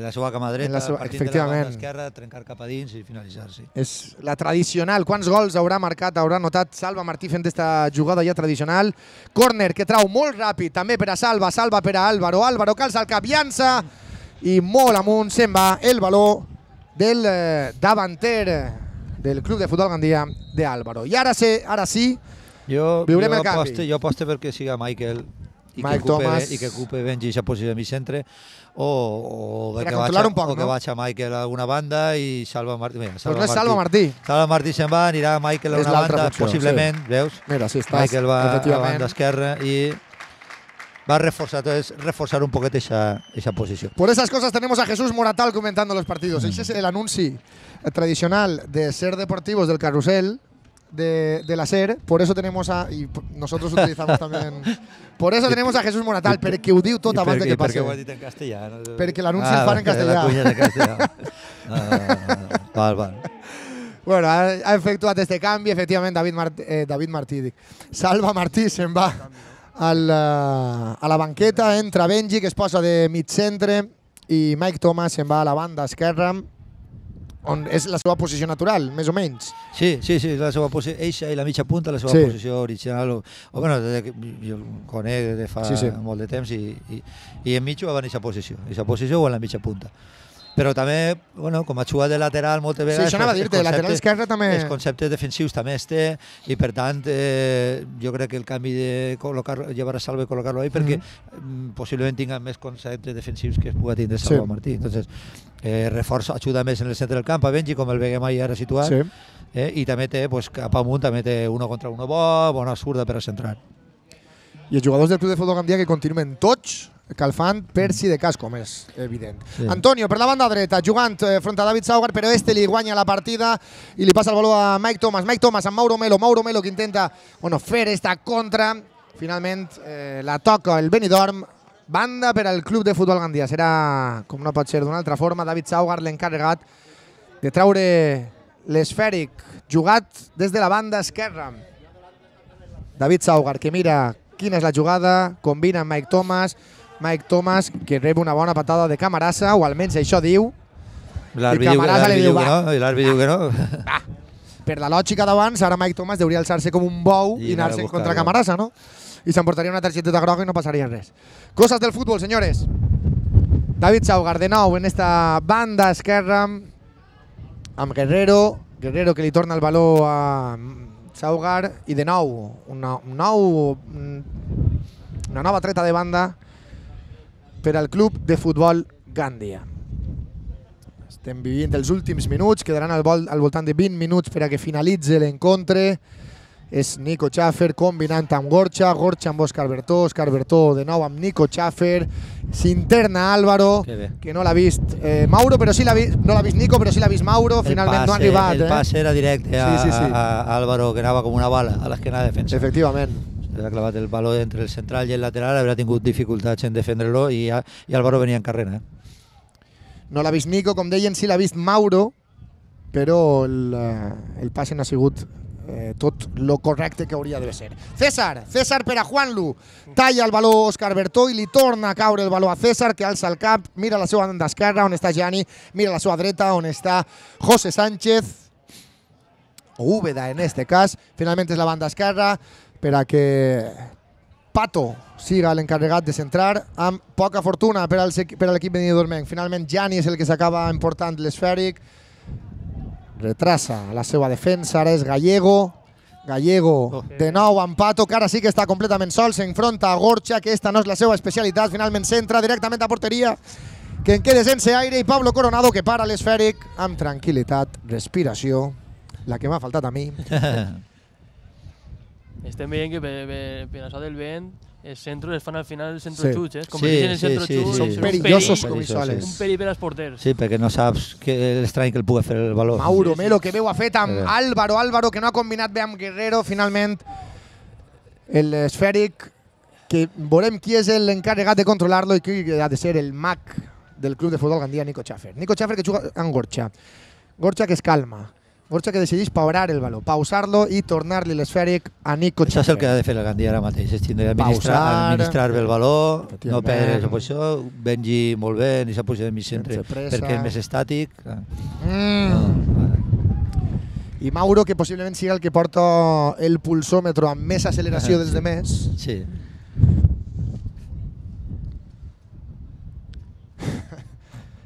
La seva cama dreta, partint de la banda esquerra, trencar cap a dins i finalitzar, sí. És la tradicional. Quants gols haurà marcat, haurà notat Salva Martí fent aquesta jugada ja tradicional. Córner que trau molt ràpid, també per a Salva, Salva per a Álvaro, Álvaro calça el cap, llança i molt amunt se'n va el baló del davanter del Club de Futbol Gandia d'Álvaro. I ara sí, veurem el canvi. Jo aposto perquè siga Michael i que ocupe Benji aquesta posició de mig centre o que vaig a Michael a alguna banda i Salva Martí. Però no és Salva Martí. Salva Martí se'n va, anirà Michael a una banda, possiblement, veus? Mira, sí, estàs, Michael va a la banda esquerra i va a reforzar un poquet esa posición. Por esas cosas tenemos a Jesús Moratal comentando los partidos. Ese es el anuncio tradicional de Ser Deportivos del Carrusel de la SER. Por eso tenemos y nosotros utilizamos también. Por eso tenemos a Jesús Moratal, perquè ho diu tot abans de que passi. Per què ho has dit en castellà? Perquè l'anunci el fan en castellà. La cuña de castellà. Val. Bueno, ha efectuat este canvi, efectivament, David Martí. Salva Martí se'n va a la banqueta, entra Benji, que es posa de mig centre, i Mike Thomas se'n va a la banda esquerra, on és la seva posició natural, més o menys. Sí, la seva posició, eixa i la mitja punta, la seva posició original, o bueno, jo el conec de fa molt de temps i enmig va en aquesta posició o en la mitja punta. Però també, bueno, com a jugat de lateral moltes vegades... Sí, això anava a dir-te, lateral esquerre també... Els conceptes defensius també es té i, per tant, jo crec que el canvi de llevar a Salva i col·locar-lo ahí perquè possiblement tinga més conceptes defensius que es pugui tindre Salva Martí. Entonces, ajuda més en el centre del camp a Benji, com el veiem ahí ara situat, i també té, cap amunt, també té uno contra uno bona zurda per a centrar. I els jugadors del Club de Futbol Gandia que continuen tots calfant per si de cas, com és evident. Antonio, per la banda dreta, jugant front a David Saugar, però este li guanya la partida i li passa el valor a Mike Thomas. Mike Thomas amb Mauro Melo que intenta fer esta contra. Finalment la toca el Benidorm. Banda per al Club de Futbol Gandia. Serà, com no pot ser d'una altra forma, David Saugar l'encarregat de traure l'esfèric jugat des de la banda esquerra. David Saugar, que mira quina és la jugada, combina amb Mike Thomas, que rep una bona patada de Camarasa, o almenys això diu. L'àrbitre diu que no. Per la lògica d'abans, ara Mike Thomas hauria alçar-se com un bou i anar-se contra Camarasa, no? I s'emportaria una targeteta groga i no passaria res. Coses del futbol, senyores. David Saugar, de nou, en esta banda esquerra, amb Guerrero que li torna el valor a Saugar, i de nou, una nova treta de banda per al Club de Futbol Gandia. Estem vivint els últims minuts, quedaran al voltant de 20 minuts per a que finalitzi l'encontre. És Nico Schaffer combinant amb Gorcha amb Òscar Bertó de nou amb Nico Schaffer, s'interna Álvaro, que no l'ha vist Mauro, però sí l'ha vist, no l'ha vist Nico, però sí l'ha vist Mauro, finalment no ha arribat. El pas era directe a Álvaro, que anava com una bala a l'esquena de defensa. Efectivament. Ha clavat el valor entre el central i el lateral, haurà tingut dificultats en defendre-lo i Álvaro venia en carrera. No l'ha vist Nico, com deien, sí l'ha vist Mauro, però el passe no ha sigut tot lo correcte que hauria de ser. César per a Juanlu, talla el valor Òscar Bertó i li torna a caure el valor a César, que alça el cap, mira la seva banda esquerra on està Gianni, mira la seva dreta on està José Sánchez, o Úbeda en este cas. Finalment és la banda esquerra per a que Pato siga l'encarregat de centrar, amb poca fortuna per a l'equip benidormenc. Finalment Gianni és el que s'acaba emportant l'esfèric, retrasa la seva defensa, ara és Gallego de nou amb Pato, que ara sí que està completament sol, s'enfronta a Gorcha, que esta no és la seva especialitat, finalment centra directament a porteria, que en quede sense aire, i Pablo Coronado, que para l'esfèric amb tranquil·litat, respiració, la que m'ha faltat a mi. Estem veient que per això del vent els centros es fan al final els centroxuts, es converteixen en centroxuts. Són perillosos com soles. Un perill per als porters. Sí, perquè no saps l'estrany que el pugui fer el valor. Mauro Melo, que veu ha fet amb Álvaro, que no ha combinat bé amb Guerrero, finalment l'esfèric, que veurem qui és l'encarregat de controlar-lo i qui ha de ser el mag del Club de Futbol Gandia, Nico Schaffer. Nico Schaffer, que juga amb Gorcha que es calma. Borja que decideix paurar el valor, pausar-lo i tornar-li l'esfèric a Nico Això és el que ha Chaffer. de fer el Gandia ara mateix, és tindre Pausar. administrar bé el valor, no Efectivament. perdre la posició, Benji molt bé, ni s'ha posat en mig centre Sense pressa. perquè és més estàtic. I Mauro, que possiblement sigui el que porta el pulsòmetre amb més acceleració dels demés. Sí.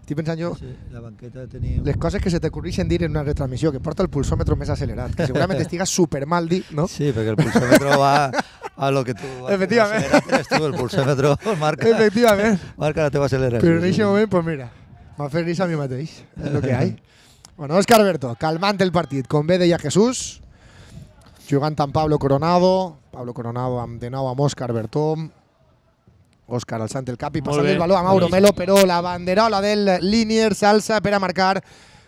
Estic pensant jo, Sí, la banqueta tenim... les coses que se t'ocorreixen dir en una retransmissió, que porta el pulsòmetre més accelerat, que segurament estiga super mal dit, no? Sí, perquè el pulsòmetre va a lo que tu... Efectivament. Eres tu, el pulsòmetre marca, Efectivament. marca la teva acceleració. Però en aquest moment, pues mira, m'ha fet risa a mi mateix, és el que hi ha. Bueno, Óscar Berto, calmant el partit, com bé deia Jesús, jugant amb Pablo Coronado amb, de nou amb Óscar Berto, Òscar alçant el cap i passant el valor a Mauro Melo, però la banderola del Liniers s'alça per a marcar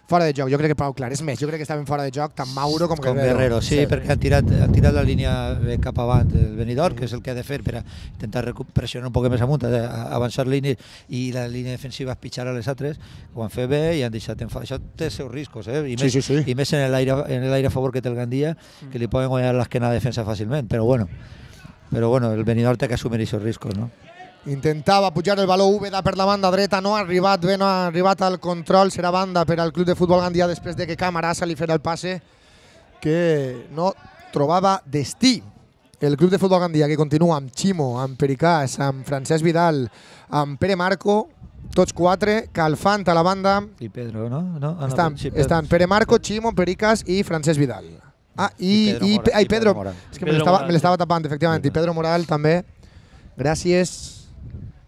fora de joc. Jo crec que prou clar. És més, jo crec que estaven fora de joc tant Mauro com Guerrero. Sí, perquè han tirat la línia cap avant del Benidorm, que és el que ha de fer per a intentar pressionar un poc més amunt, avançar línies i la línia defensiva pitjar a les altres. Ho han fet bé i han deixat en fa. Això té els seus riscos, I més en l'aire a favor que té el Gandia, que li poden guanyar l'esquena a la defensa fàcilment. Però bueno, el Benidorm té que assumir aquests riscos, no? Intentava pujar el valor Úbeda per la banda dreta, no ha arribat bé, no ha arribat al control, serà banda per al Club de Futbol Gandia després de que Camarasa li farà el passe que no trobava destí. El Club de Futbol Gandia que continua amb Ximo, amb Pericàs, amb Francesc Vidal, amb Pere Marco, tots quatre, calfant a la banda. I Pedro, no? Estan Pere Marco, Ximo, Pericàs i Francesc Vidal. I Pedro Moral. És que me l'estava tapant, efectivament. I Pedro Moral també. Gràcies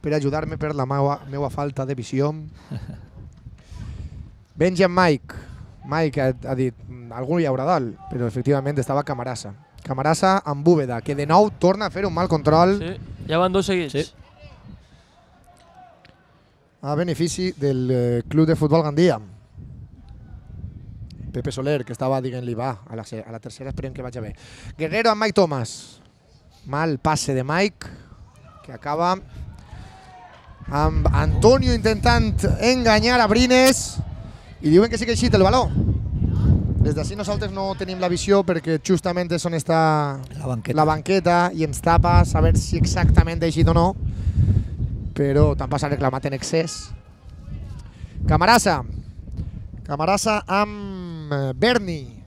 per ajudar-me per la meva falta de visió. Benji amb Mike. Mike ha dit, algú hi haurà dalt, però efectivament estava Camarasa. Camarasa amb Úbeda, que de nou torna a fer un mal control. Sí, ja van dos seguits. Sí. A benefici del Club de Futbol Gandia. Pepe Soler, que estava dient-li, va, a la tercera esperem que vagi bé. Guerrero amb Mike Thomas. Mal passe de Mike, que acaba amb Antonio intentant enganyar a Brines i diuen que sí que ha eixit el valor. Des d'ací nosaltres no tenim la visió perquè justament és on està la banqueta i ens tapa saber si exactament ha eixit o no, però també s'ha reclamat en excés. Camarasa amb Berni.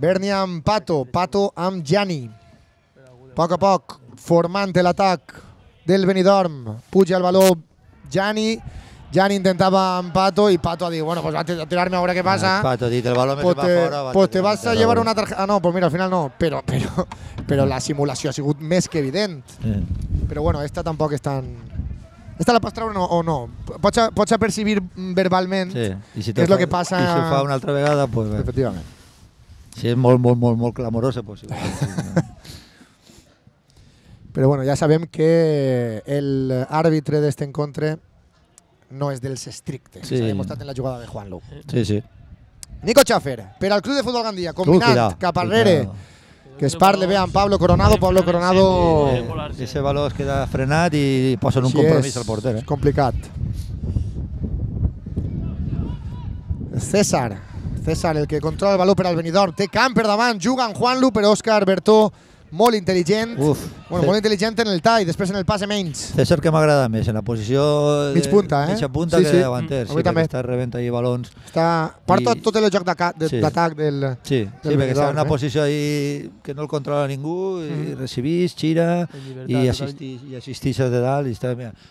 Berni amb Pato amb Gianni. A poc, formant l'atac del Benidorm. Puja el valor Gianni intentava amb Pato i Pato ha dit, bueno, pues va a tirarme a veure què passa. Pato ha dit, el valor me va fora. Pues te vas a llevar una tarjeta. Ah, no, pues mira, al final no. Però la simulació ha sigut més que evident. Però bueno, esta tampoc és tan... Esta la pots treure o no? Pots apercibir verbalment què és el que passa... I si ho fa una altra vegada, pues bé. Efectivament. Si és molt clamorosa, pues sí. Però bueno, ja sabem que l'àrbitre d'aquest encontre no és dels estrictes. S'ha demostrat en la jugada de Juanlu. Sí. Nico Chaffer, per al Club de Futbol Gandia, combinant cap arrere, que es parle bé amb Pablo Coronado. Ese valor es queda frenat i posen un compromís al porter. És complicat. César, el que controla el valor per al Benidorm, té camp per davant, juga amb Juanlu, però Óscar Bertó molt intel·ligent, molt intel·ligent en el tall, després en el passe menys. César que m'agrada més, en la posició mitja punta que davanter, perquè està rebent allí balons. Porta tot el joc d'atac del Sí, perquè està en una posició ahí que no el controla ningú, i recibís, xira i assistix de dalt, i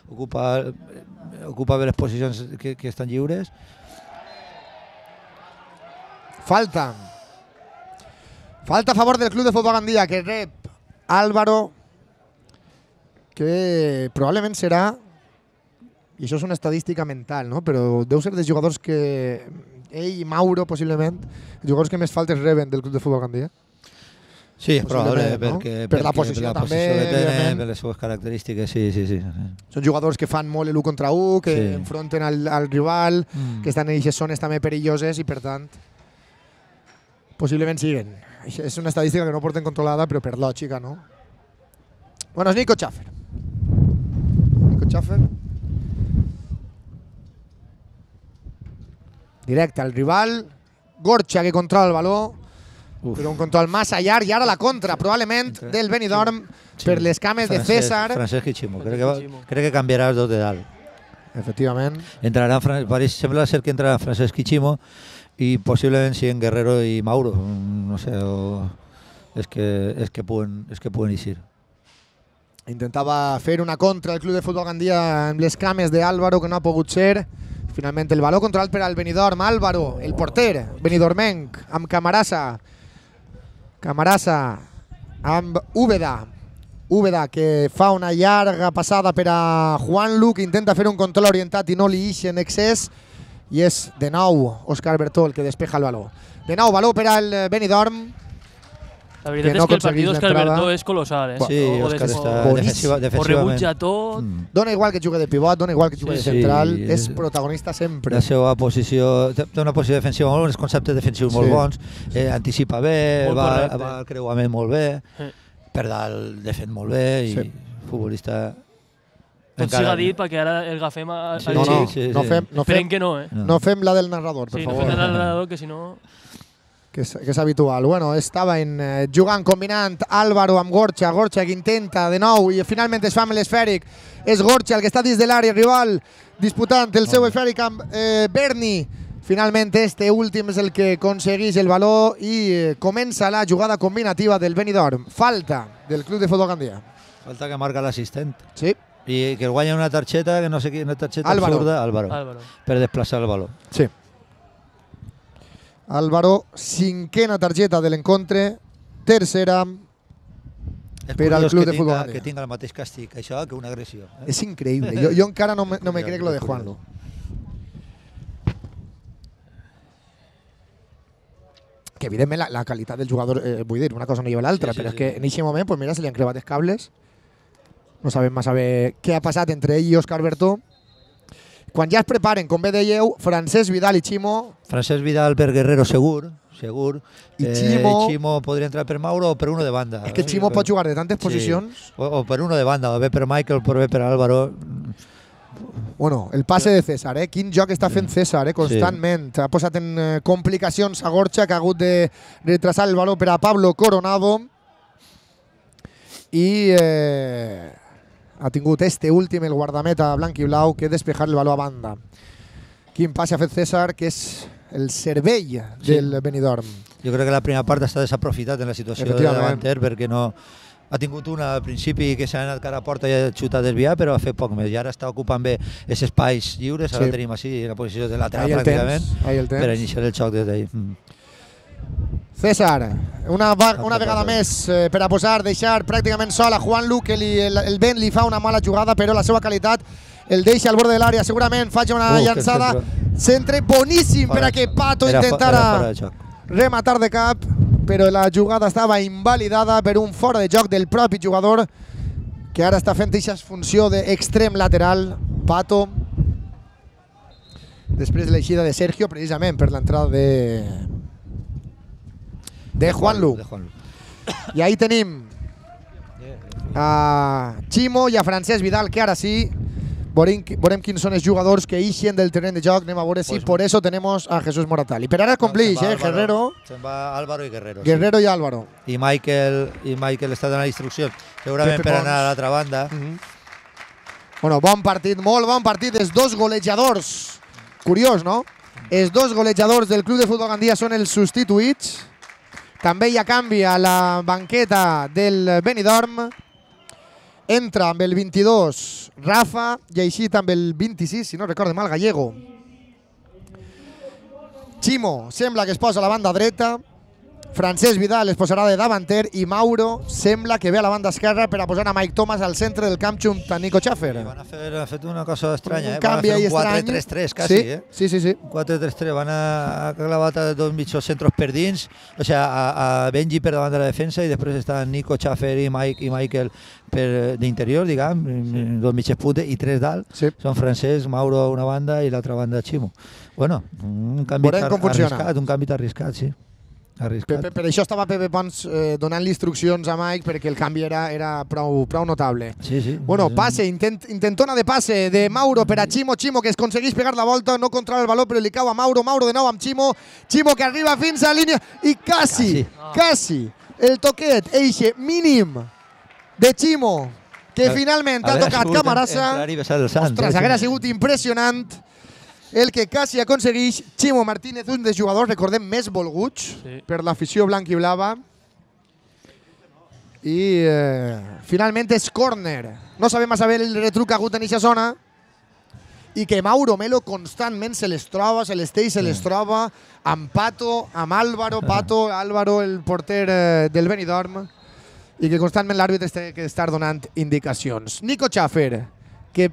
ocupa bé les posicions que estan lliures. Falta a favor del Club de Futbol Gandia, que rep Álvaro, que probablement serà, i això és una estadística mental, no? Però deu ser dels jugadors que ell i Mauro, possiblement, els jugadors que més faltes reben del Club de Futbol Gandia. Sí, és probable, per la posició també, per les seves característiques, sí. Són jugadors que fan molt l'1 contra 1, que enfronten al rival, que estan en aquestes zones també perilloses i, per tant, possiblement siguen. És una estadística que no porten controlada, però per lògica, no? Bueno, és Nico Chaffer. directe al rival. Gorcha que controla el baló, però un control massa llarg, i ara la contra, probablement, del Benidorm per les cames de César. Francesc i Ximo. Crec que canviarà els dos de dalt. Efectivament. Sembla ser que entrarà Francesc i Ximo i possiblement siguin Guerrero i Mauro. No sé, és que poden eixir. Intentava fer una contra el Club de Futbol Gandia amb les cames d'Álvaro, que no ha pogut ser. Finalment el baló controlat per al Benidorm. Álvaro, el porter, benidormenc, amb Camarasa. Camarasa amb Úbeda. Úbeda que fa una llarga passada per a Juanlu, que intenta fer un control orientat i no li ix en excés. I és de nou Òscar Bertó el que despeja el baló. De nou baló per al Benidorm. La veritat és que el partit d'Òscar Bertó és colossal. Sí, Òscar està defensivament. Ho rebutja tot. Dona igual que jugui de pivot, dona igual que jugui de central. És protagonista sempre. La seva posició, té una posició defensiva molt bona, els conceptes defensius molt bons, anticipa bé, va al creuament molt bé, per dalt defèn molt bé i futbolista... Tot siga dit perquè ara el agafem a... Esperem que no, No fem la del narrador, per favor. Sí, no fem la del narrador, que si no... Que és habitual. Bueno, estaven jugant, combinant Álvaro amb Gorcha. Gorcha que intenta de nou i finalment es fa amb l'esfèric. És Gorcha el que està dins de l'àrea rival disputant el seu esfèric amb Berni. Finalment este últim és el que aconsegueix el baló i comença la jugada combinativa del Benidorm. Falta del Club de Futbol Gandia. Falta que marca l'assistent. Sí. I que el guanya una targeta, que no sé quina targeta absurda, Álvaro, per desplaçar el baló. Sí. Álvaro, cinquena targeta de l'encontre, tercera per al Club de Futbol Gandia. Que tinga el mateix càstig això que una agressió. És increïble. Jo encara no me crec lo de Juanlu. Que evidentment la qualitat del jugador, vull dir, una cosa no lleva l'altra, però és que en aquest moment, pues mira, se li han crevat els cables. No sabem massa bé què ha passat entre ell i Òscar Bertó. Quan ja es preparen, com bé dèieu, Francesc Vidal i Ximo. Francesc Vidal per Guerrero segur. I Ximo podria entrar per Mauro o per uno de banda. És que Ximo pot jugar de tantes posicions. O per uno de banda, o bé per Michael, o bé per Álvaro. Bueno, el passe de César, quin joc està fent César, constantment. Ha posat en complicacions a Gorcha, que ha hagut de retrasar el baló per a Pablo Coronado. I ha tingut este últim, el guardameta blanc i blau, que despejar el baló a banda. Quin passe ha fet César, que és el cervell del Benidorm. Jo crec que la primera part està desaprofitat en la situació de davanter, perquè no... Ha tingut una al principi que s'ha anat cara a porta i ha xutat desviar, però ha fet poc més. I ara està ocupant bé aquests espais lliures, ara tenim així la posició de lateral pràcticament, per iniciar el xoc des d'ahir. César, una vegada més per a deixar pràcticament sol a Juanlu, que el vent li fa una mala jugada, però la seva qualitat el deixa al bord de l'àrea, segurament faig una llançada, centre boníssim per a que Pato intentara rematar de cap, però la jugada estava invalidada per un fora de joc del propi jugador, que ara està fent aquesta funció d'extrem lateral, Pato, després de l'eixida de Sergio, precisament per l'entrada de Juanlu. I ahí tenim a Ximo i a Francesc Vidal, que ara sí veurem quins són els jugadors que ixen del terreny de joc. Anem a veure si por eso tenemos a Jesús Moratali. Per ara complix, Guerrero. Se'n va Álvaro i Guerrero. Guerrero i Álvaro. I Michael està donant instruccions, segurament per anar a l'altra banda. Bueno, bon partit, molt bon partit. Els dos golejadors, curiós, no? Els dos golejadors del Club de Futbol Gandia són els substituïts. També hi ha canvi a la banqueta del Benidorm. Entra amb el 22 Rafa i així amb el 26, si no recorde mal, Gallego. Ximo sembla que es posa a la banda dreta. Francesc Vidal es posarà de davanter i Mauro sembla que ve a la banda esquerra per a posar a Mike Thomas al centre del camp junt a Nico Schaffer. Van a fet una cosa estranya, un canvi ahí estrany. 4-3-3 quasi, Sí. 4-3-3, van a clavat a dos mitjos centros per dins, o sigui, a Benji per davant de la defensa i després estan Nico Schaffer i Michael d'interior, diguem, dos mitges puntes i tres dalt. Són Francesc, Mauro a una banda i l'altra banda Ximo. Bueno, un canvi arriscat, sí. Arriscat. Per això estava Pepe Pons donant-li instruccions a Mike perquè el canvi era prou notable. Sí. Bueno, passe, intentona de passe de Mauro per a Chimo, Chimo que es aconsegueix pegar la volta, no controla el valor però li cau a Mauro, Mauro de nou amb Chimo, Chimo que arriba fins a la línia i quasi el toquet, eixe mínim de Chimo que finalment ha tocat Camarasa. Ostres, hauria sigut impressionant el que quasi aconsegueix Chimo Martínez, un dels jugadors, recordem, més volguts per l'afició blanc i blava. I finalment és córner. No sabem massa bé el retruc que ha hagut en aquesta zona i que Mauro Melo constantment se les troba, se les troba amb Pato, amb Álvaro, Álvaro, el porter del Benidorm, i que constantment l'àrbitre té que estar donant indicacions. Nico Schaffer, que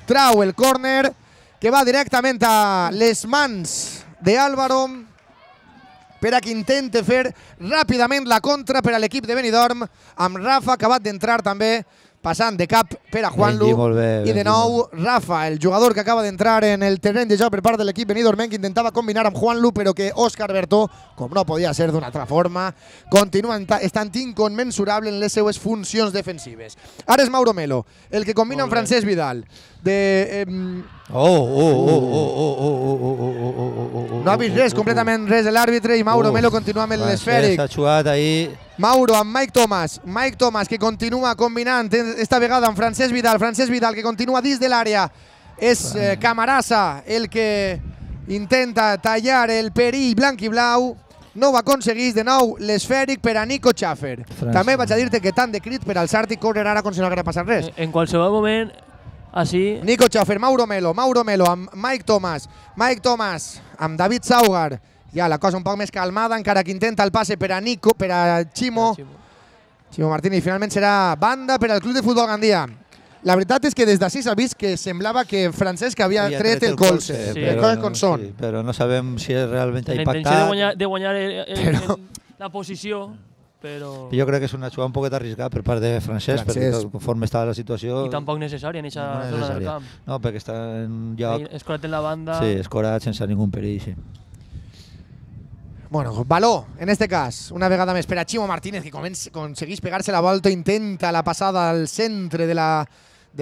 trau el córner, que va directament a les mans d'Álvaro per a que intente fer ràpidament la contra per a l'equip de Benidorm, amb Rafa acabat d'entrar també, passant de cap per a Juanlu, i de nou Rafa, el jugador que acaba d'entrar en el terreny de joc per part de l'equip benidormenc, que intentava combinar amb Juanlu, però que Òscar Bertó, com no podia ser d'una altra forma, continua estant inconmensurable en les seues funcions defensives. Ara és Mauro Melo, el que combina amb Francesc Vidal. No ha vist res, completament res de l'àrbitre, i Mauro Melo continua amb l'esfèric. Mauro amb Mike Thomas que continua combinant esta vegada amb Francesc Vidal que continua dins de l'àrea. És Camarasa el que intenta tallar el perill blanc i blau. No ho aconsegueix, de nou l'esfèric per a Nico Schaffer. També vaig a dir-te que tant de crit per alçar-te i córrer ara com si no hagués passat res. En qualsevol moment, així... Nico Schaffer, Mauro Melo amb Mike Thomas amb David Saugar. Ja la cosa un poc més calmada, encara que intenta el passe per a Chimo Martínez. Finalment serà banda per al Club de Futbol Gandia. La veritat és que des d'ací s'ha vist que semblava que Francesc havia tret el colze. Però no sabem si realment ha impactat. La intenció de guanyar la posició, però... Jo crec que és una jugada un poquet arriscada per part de Francesc, perquè conforme estava la situació... I tampoc necessària en aquesta zona del camp. No, perquè està en un lloc... Escorat en la banda... Sí, escorat sense ningú perill, sí. Bueno, baló, en este cas, una vegada més per a Chimo Martínez, que aconsegueix pegar-se la volta, intenta la passada al centre de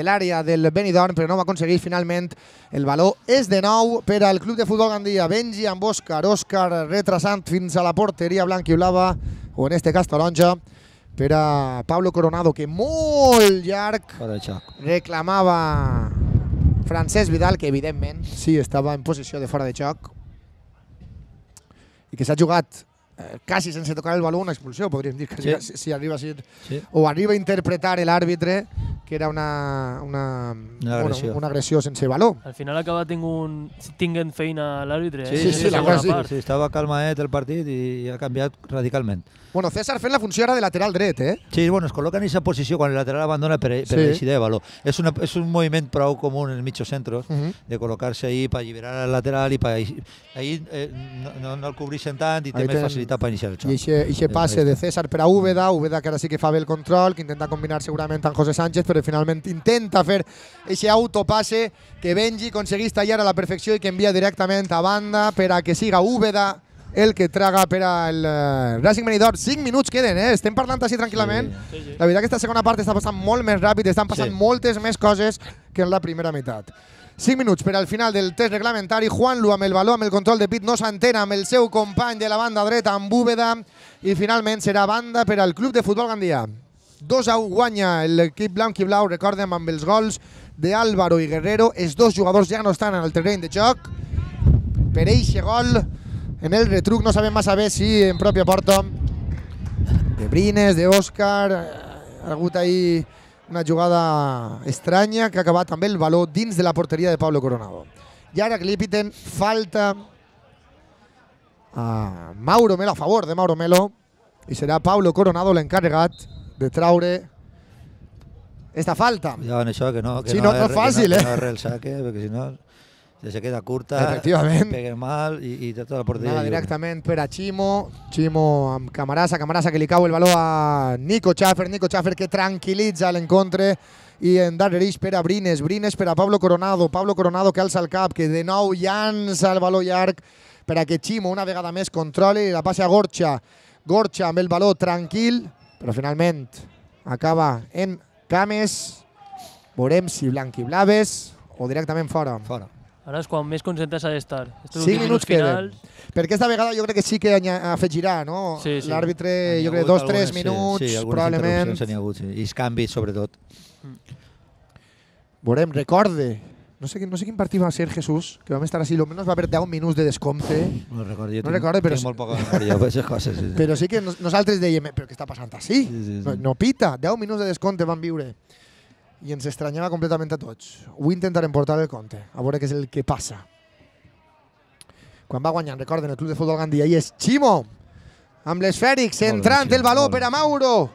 l'àrea del Benidorm, però no va aconseguir finalment. El baló és de nou per al Club de Futbol Gandia. Benji amb Òscar retrasant fins a la porteria blanca i blava, o en este cas taronja, per a Pablo Coronado, que molt llarg reclamava Francesc Vidal, que evidentment sí estava en posició de fora de joc, i que s'ha jugat quasi sense tocar el baló una expulsió, podríem dir que si arriba a ser, o arriba a interpretar l'àrbitre que era una agressió sense baló. Al final acaba tinguent feina l'àrbitre. Sí, estava calmaet el partit i ha canviat radicalment. Bueno, César fent la funció ara de lateral dret, eh? Sí, bueno, es col·loca en aquesta posició quan el lateral abandona per eixir de baló. És un moviment prou comú en els mitjos centros, de col·locar-se ahí per alliberar el lateral i ahí no el cobreixen tant i té més facilitat per iniciar el xoc. I aquest passe de César per a Úbeda que ara sí que fa bé el control, que intenta combinar segurament amb José Sánchez, però finalment intenta fer aquest autopasse que Benji aconsegueix tallar a la perfecció i que envia directament a banda per a que siga Úbeda el que traga per al Racing Benidorm. 5 minuts queden, estem parlant així tranquil·lament. La veritat que aquesta segona part està passant molt més ràpid, estan passant moltes més coses que en la primera meitat. 5 minuts per al final del test reglamentari. Juanlu amb el baló, amb el control de pit, no s'entén amb el seu company de la banda dreta, amb Úbeda, i finalment serà banda per al Club de Futbol Gandia. 2-1 guanya l'equip blanc i blau, recordem, amb els gols d'Álvaro i Guerrero. Els dos jugadors ja no estan en el terreny de joc. Per eixe gol, en el retruc, no sabem massa bé si en pròpia porta de Brines, d'Òscar. Ha hagut ahir una jugada estranya que ha acabat amb el baló dins de la porteria de Pablo Coronado. I ara que li piten falta a Mauro Melo, a favor de Mauro Melo, i serà Pablo Coronado l'encarregat de traure esta falta. Ja en això, que no és fàcil, que no arre el saque, perquè si no se queda curta, pega mal i tota la porteria. Directament per a Chimo amb Camarasa que li cau el baló a Nico Schaffer que tranquil·litza l'encontre, i en darrereix per a Brines per a Pablo Coronado que alça el cap, que de nou llança el baló llarg per a que Chimo una vegada més controli, la passa a Gorcha. Gorcha amb el baló tranquil, però finalment acaba en cames. Veurem si blanc i blaves o directament fora. Fora. Ara és quan més concentrats ha d'estar. 5 minuts queden. Perquè esta vegada jo crec que sí que afegirà, no? Sí, sí. L'àrbitre, jo crec, 2-3 minuts, sí, probablement. Sí, hagut, sí. I els canvis, sobretot. Veurem, recorde. No sé quin partit va ser, Jesús, que vam estar així, almenys va haver 10 minuts de descompte. No recordo, jo No recordo, però tinc molt poca memòria per aquestes coses. Sí, sí. Però sí que nosaltres dèiem, però què està passant així? Sí. No pita, 10 minuts de descompte van viure. I ens estranyava completament a tots. Ho intentarem portar el compte, a veure què és el que passa. Quan va guanyant, recorden, el Club de Futbol Gandia, i és Chimo, amb l'esfèric, centrant el baló per a Mauro.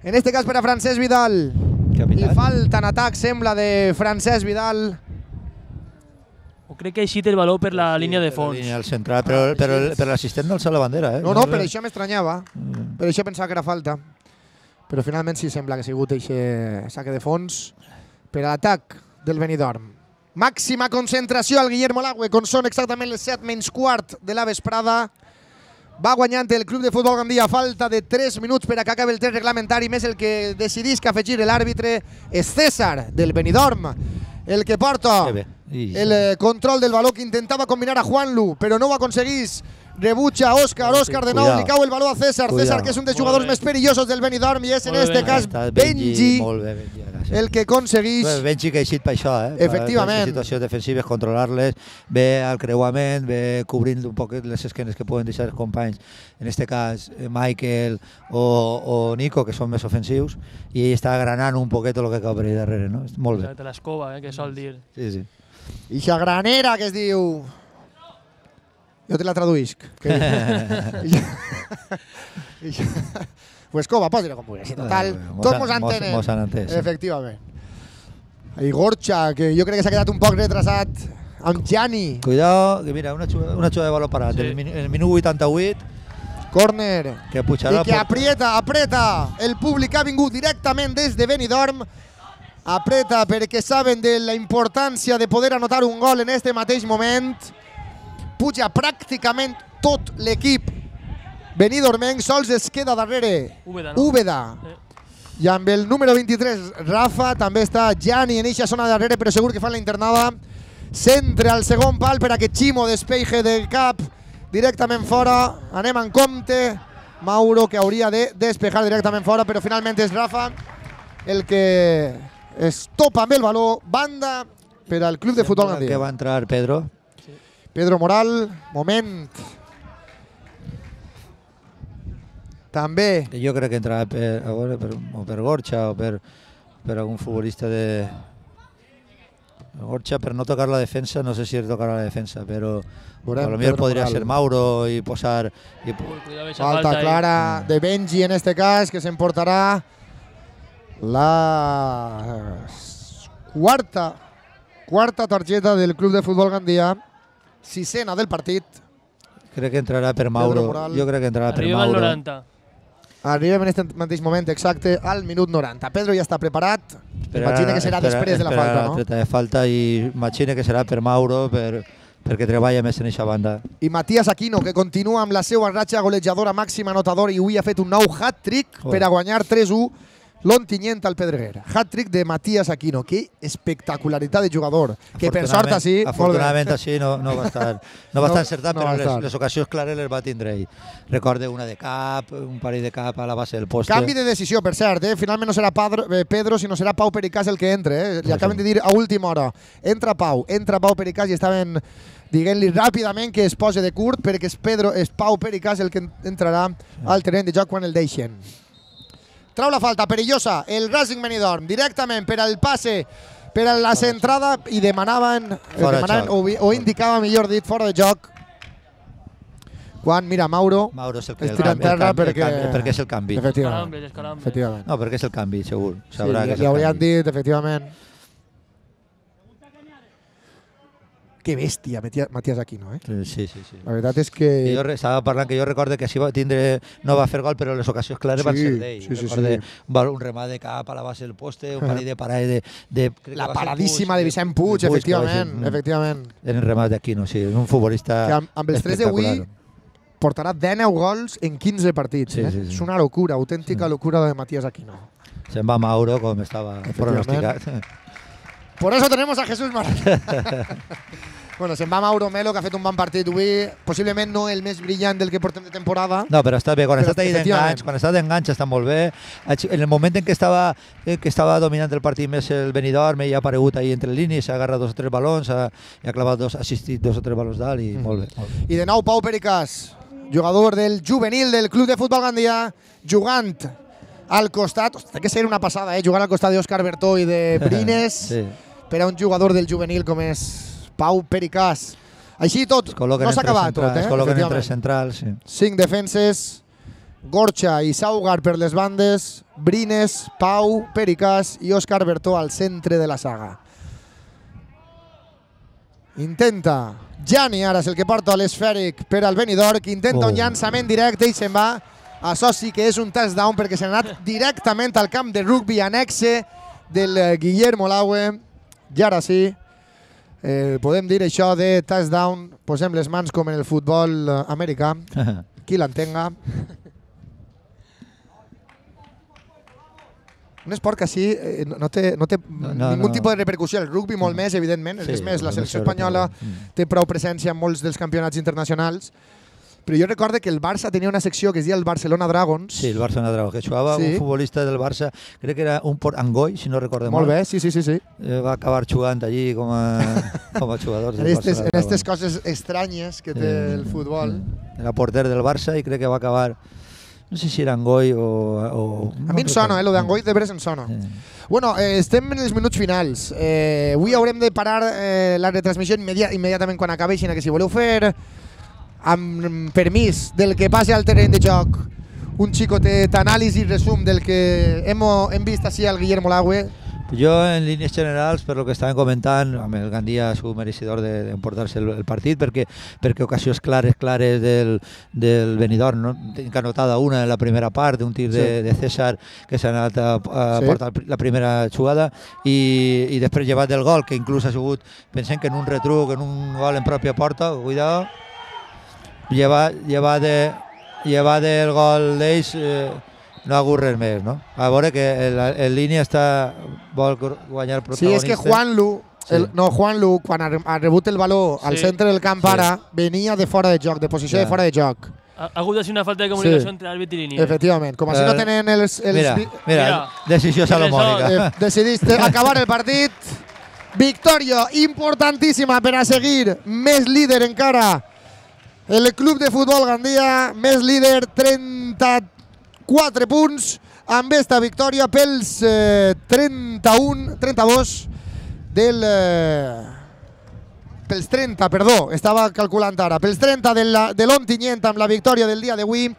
En este cas per a Francesc Vidal. Li falta en atac, sembla, de Francesc Vidal. O crec que ha eixit el baló per la línia de fons. La línia del central, però l'assistent no alça la bandera. No, per això m'estranyava. Per això pensava que era falta. Però finalment sí sembla que ha sigut aquest saque de fons per a l'atac del Benidorm. Màxima concentració al Guillermo Lagüe, quan són exactament les 7:15 de la vesprada. Va guanyant el Club de Futbol Gandia, falta de 3 minuts per a que acabi el temps reglamentari, més el que decidís que afegir l'àrbitre és César del Benidorm, el que porta el control del baló, que intentava combinar a Juanlu, però no ho aconseguís. Rebutja Òscar de nou, li cau el baló a César. César, que és un dels jugadors més perillosos del Benidorm, i és en este cas Benji el que aconseguís. Benji que ha eixit per això, efectivament. Les situacions defensives, controlar-les, ve al creuament, ve cobrint un poc les esquenes que poden deixar els companys, en este cas Michael o Nico, que són més ofensius, i ell està granant un poquet el que cau per allà darrere, no? Molt bé. L'escova, que sol dir. Sí. Ixa granera que es diu... Jo te la traduïsc. Pues cova, posa-la com vulguis. Total, tots mos entenen. Mos han entès. Efectivament. I Gorcha, que jo crec que s'ha quedat un poc retrasat amb Gianni. Cuidado, que mira, una jugada de baló parat. El minut 88. Córner. Que pujarà. I que apreta. El públic ha vingut directament des de Benidorm. Apreta perquè saben de la importància de poder anotar un gol en este mateix moment. Puja pràcticament tot l'equip benidormenc, sols es queda darrere Úbeda. I amb el número 23, Rafa, també està Gianni en eixa zona darrere, però segur que fan la internada. Centre al segon pal per a que Chimo despeje del cap directament fora. Anem en compte. Mauro, que hauria de despejar directament fora, però finalment és Rafa el que es topa amb el baló. Banda per al Club de Futbol Gandia. Que va entrar Pedro. Pedro Moral, moment. També. Jo crec que entrarà per Gorcha o per algun futbolista de... Gorcha per no tocar la defensa, no sé si tocarà la defensa, però potser podria ser Mauro i posar... Falta clara de Benji en este cas, que s'emportarà la quarta targeta del Club de Futbol Gandia. Sisena del partit. Crec que entrarà per Mauro. Jo crec que entrarà per Mauro. Arriba al 90. Arribem en aquest mateix moment exacte al minut 90. Pedro ja està preparat. Imagina que serà després de la falta, no? Treta de falta i imagina que serà per Mauro perquè treballa més en aquesta banda. I Matías Aquino, que continua amb la seva ratxa golejadora màxima anotador i avui ha fet un nou hat-trick per a guanyar 3-1 l'Ontinyent al Pedreguer. Hat-trick de Matías Aquino. Que espectacularitat de jugador. Que per sort així... Afortunadament així no va estar encertat, però les ocasions clares les va tindre ell. Recorde una de cap, un parell de cap a la base del poste. Canvi de decisió, per cert. Finalment no serà Pedro, sinó serà Pau Pericàs el que entre. Li acaben de dir a última hora. Entra Pau Pericàs i estaven dient-li ràpidament que es posi de curt perquè és Pau Pericàs el que entrarà al terreny de joc quan el deixen. Trau la falta perillosa el Racing Benidorm directament per al passe, per a la centrada, i demanaven o indicava, millor dit, fora de joc. Quan, mira, Mauro és el es tira en terra perquè és el canvi. Efectivament. No, perquè és el canvi, segur. Sí, li haurien dit, efectivament. Que bèstia, Matías Aquino, Sí. La veritat és que... Estava parlant que jo recordo que no va fer gol, però les ocasions clares van ser d'ell. Sí. Un remat de cap a la base del poste, un parell de parades de... La paradíssima de Vicent Puig, efectivament. Eren remats d'Aquino, sí, un futbolista que amb els 3 d'avui portarà 19 gols en 15 partits. Sí. És una locura, autèntica locura de Matías Aquino. Se'n va Mauro, com estava pronosticat. Por eso tenemos a Jesús Martín. Bueno, se'n va Mauro Melo, que ha fet un bon partit avui, possiblement no el més brillant del que portem de temporada. No, però està bé, quan està d'enganx està molt bé. En el moment en què estava dominant el partit més el Benidorm, ell ha aparegut ahí entre línies, s'ha agarrat 2 o 3 balons, ha clavat ha assistit 2 o 3 balons dalt i molt bé. I de nou Pau Pericàs, jugador del juvenil del Club de Futbol Gandia, jugant al costat, té que ser una passada, jugar al costat d'Òscar Bertó i de Brines, per a un jugador del juvenil com és Pau Pericàs. Així tot, no s'ha acabat tot. Es col·loquen entre centrals. 5 defenses, Gorcha i Saugar per les bandes, Brines, Pau, Pericàs i Òscar Bertó al centre de la saga. Intenta Gianni, ara és el que porta l'esfèric per al Benidorm, que intenta un llançament directe i se'n va. Això sí que és un touchdown perquè s'ha anat directament al camp de rugby annexe del Guillermo Laue. I ara sí, podem dir això de touchdown, posem les mans com en el futbol americà, qui l'entenga. Un esport que així no té ningú tipus de repercussió. El rugby molt més, evidentment. És més, la selecció espanyola té prou presència en molts dels campionats internacionals. Però jo recordo que el Barça tenia una secció que es deia el Barcelona Dragons. Sí, el Barcelona Dragons, que jugava un futbolista del Barça, crec que era un Port Angoi, si no recordo molt bé, sí. Va acabar jugant allí com a jugador del Barça. En aquestes coses estranyes que té el futbol. Era porter del Barça i crec que va acabar... No sé si era Angoi o... A mi em sona, lo d'Angoi de veres em sona. Bueno, estem en els minuts finals. Avui haurem de parar la retransmissió immediatament quan acabi, així que si voleu fer, amb permís del que passi al terreny de joc, un xicotet anàlisi i resum del que hem vist així al Guillermo Laue. Jo, en línies generals, per lo que estàvem comentant, amb el Gandia ha sigut mereixedor d'emportar-se el partit, perquè ocasions clares del Benidorm, no? Tinc anotada una en la primera part, d'un tir de César que s'ha anat a portar la primera jugada, i després llevat del gol, que inclús ha sigut, pensem que en un retruc, en un gol en pròpia porta, cuidado, llevat del gol d'ells, no ha hagut res més, no? A veure que en línia vol guanyar el protagonista. Sí, és que Juanlu, quan ha rebut el valor al centre del camp ara, venia de fora de joc, de posició de fora de joc. Ha hagut de ser una falta de comunicació entre àrbit i línia. Efectivament, com així no tenen els... Mira, decisió salomònica. Decidiste acabar el partit. Victòria importantíssima per a seguir més líder encara. El Club de Futbol Gandia, més líder, 34 punts, amb esta victòria pels 32 del... Pels 30, perdó, estava calculant ara. Pels 30 de l'Ontinyent amb la victòria del dia d'avui.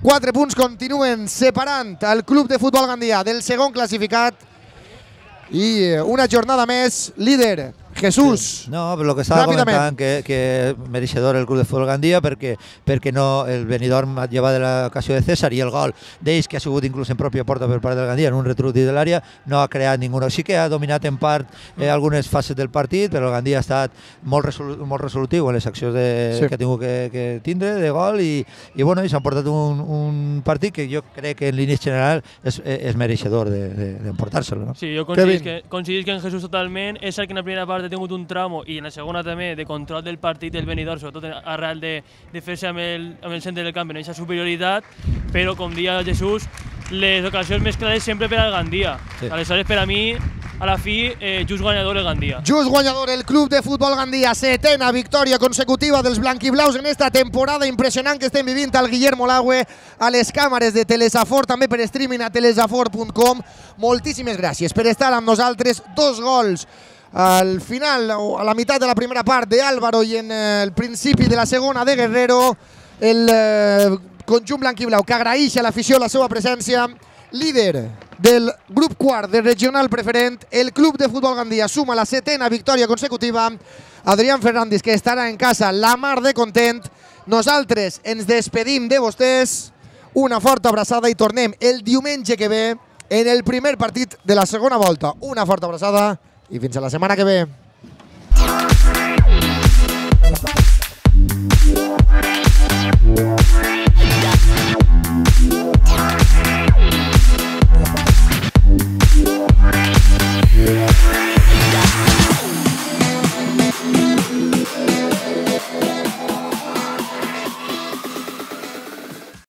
4 punts continuen separant el Club de Futbol Gandia del segon classificat. I una jornada més, líder Jesús. No, però el que estava comentant que mereixedor el Club de Futbol Gandia perquè no el Benidorm lleva de l'ocasió de César i el gol d'ells, que ha sigut inclús en pròpia porta per part del Gandia en un retruc de l'àrea, no ha creat ningú. Sí que ha dominat en part algunes fases del partit, però el Gandia ha estat molt resolutiu en les accions que ha tingut que tindre de gol i s'han portat un partit que jo crec que en línies generals és mereixedor d'emportar-se'l. Sí, jo coincidís que en Jesús totalment és el que en la primera part ha tingut un tramo i en la segona també de control del partit del Benidorm, sobretot arrel de fer-se amb el centre del camp en aquesta superioritat, però com dia Jesús, les ocasions més clares sempre per al Gandia. Aleshores, per a mi, a la fi, just guanyador el Gandia. Just guanyador el Club de Futbol Gandia, 7ª victòria consecutiva dels blanquiblaus en esta temporada impressionant que estem vivint al Guillermo Laue, a les càmeres de Telesafor, també per streaming a telesafor.com. Moltíssimes gràcies per estar amb nosaltres. 2 gols al final, o a la meitat de la primera part de Álvaro i en el principi de la segona de Guerrero. El conjunt blanquiblau que agraeix a l'afició la seva presència. Líder del grup quart de regional preferent, el Club de Futbol Gandia suma la 7ª victòria consecutiva. Adrián Fernández, que estarà en casa la mar de content. Nosaltres ens despedim de vostès. Una forta abraçada i tornem el diumenge que ve en el primer partit de la segona volta. Una forta abraçada i fins a la setmana que ve.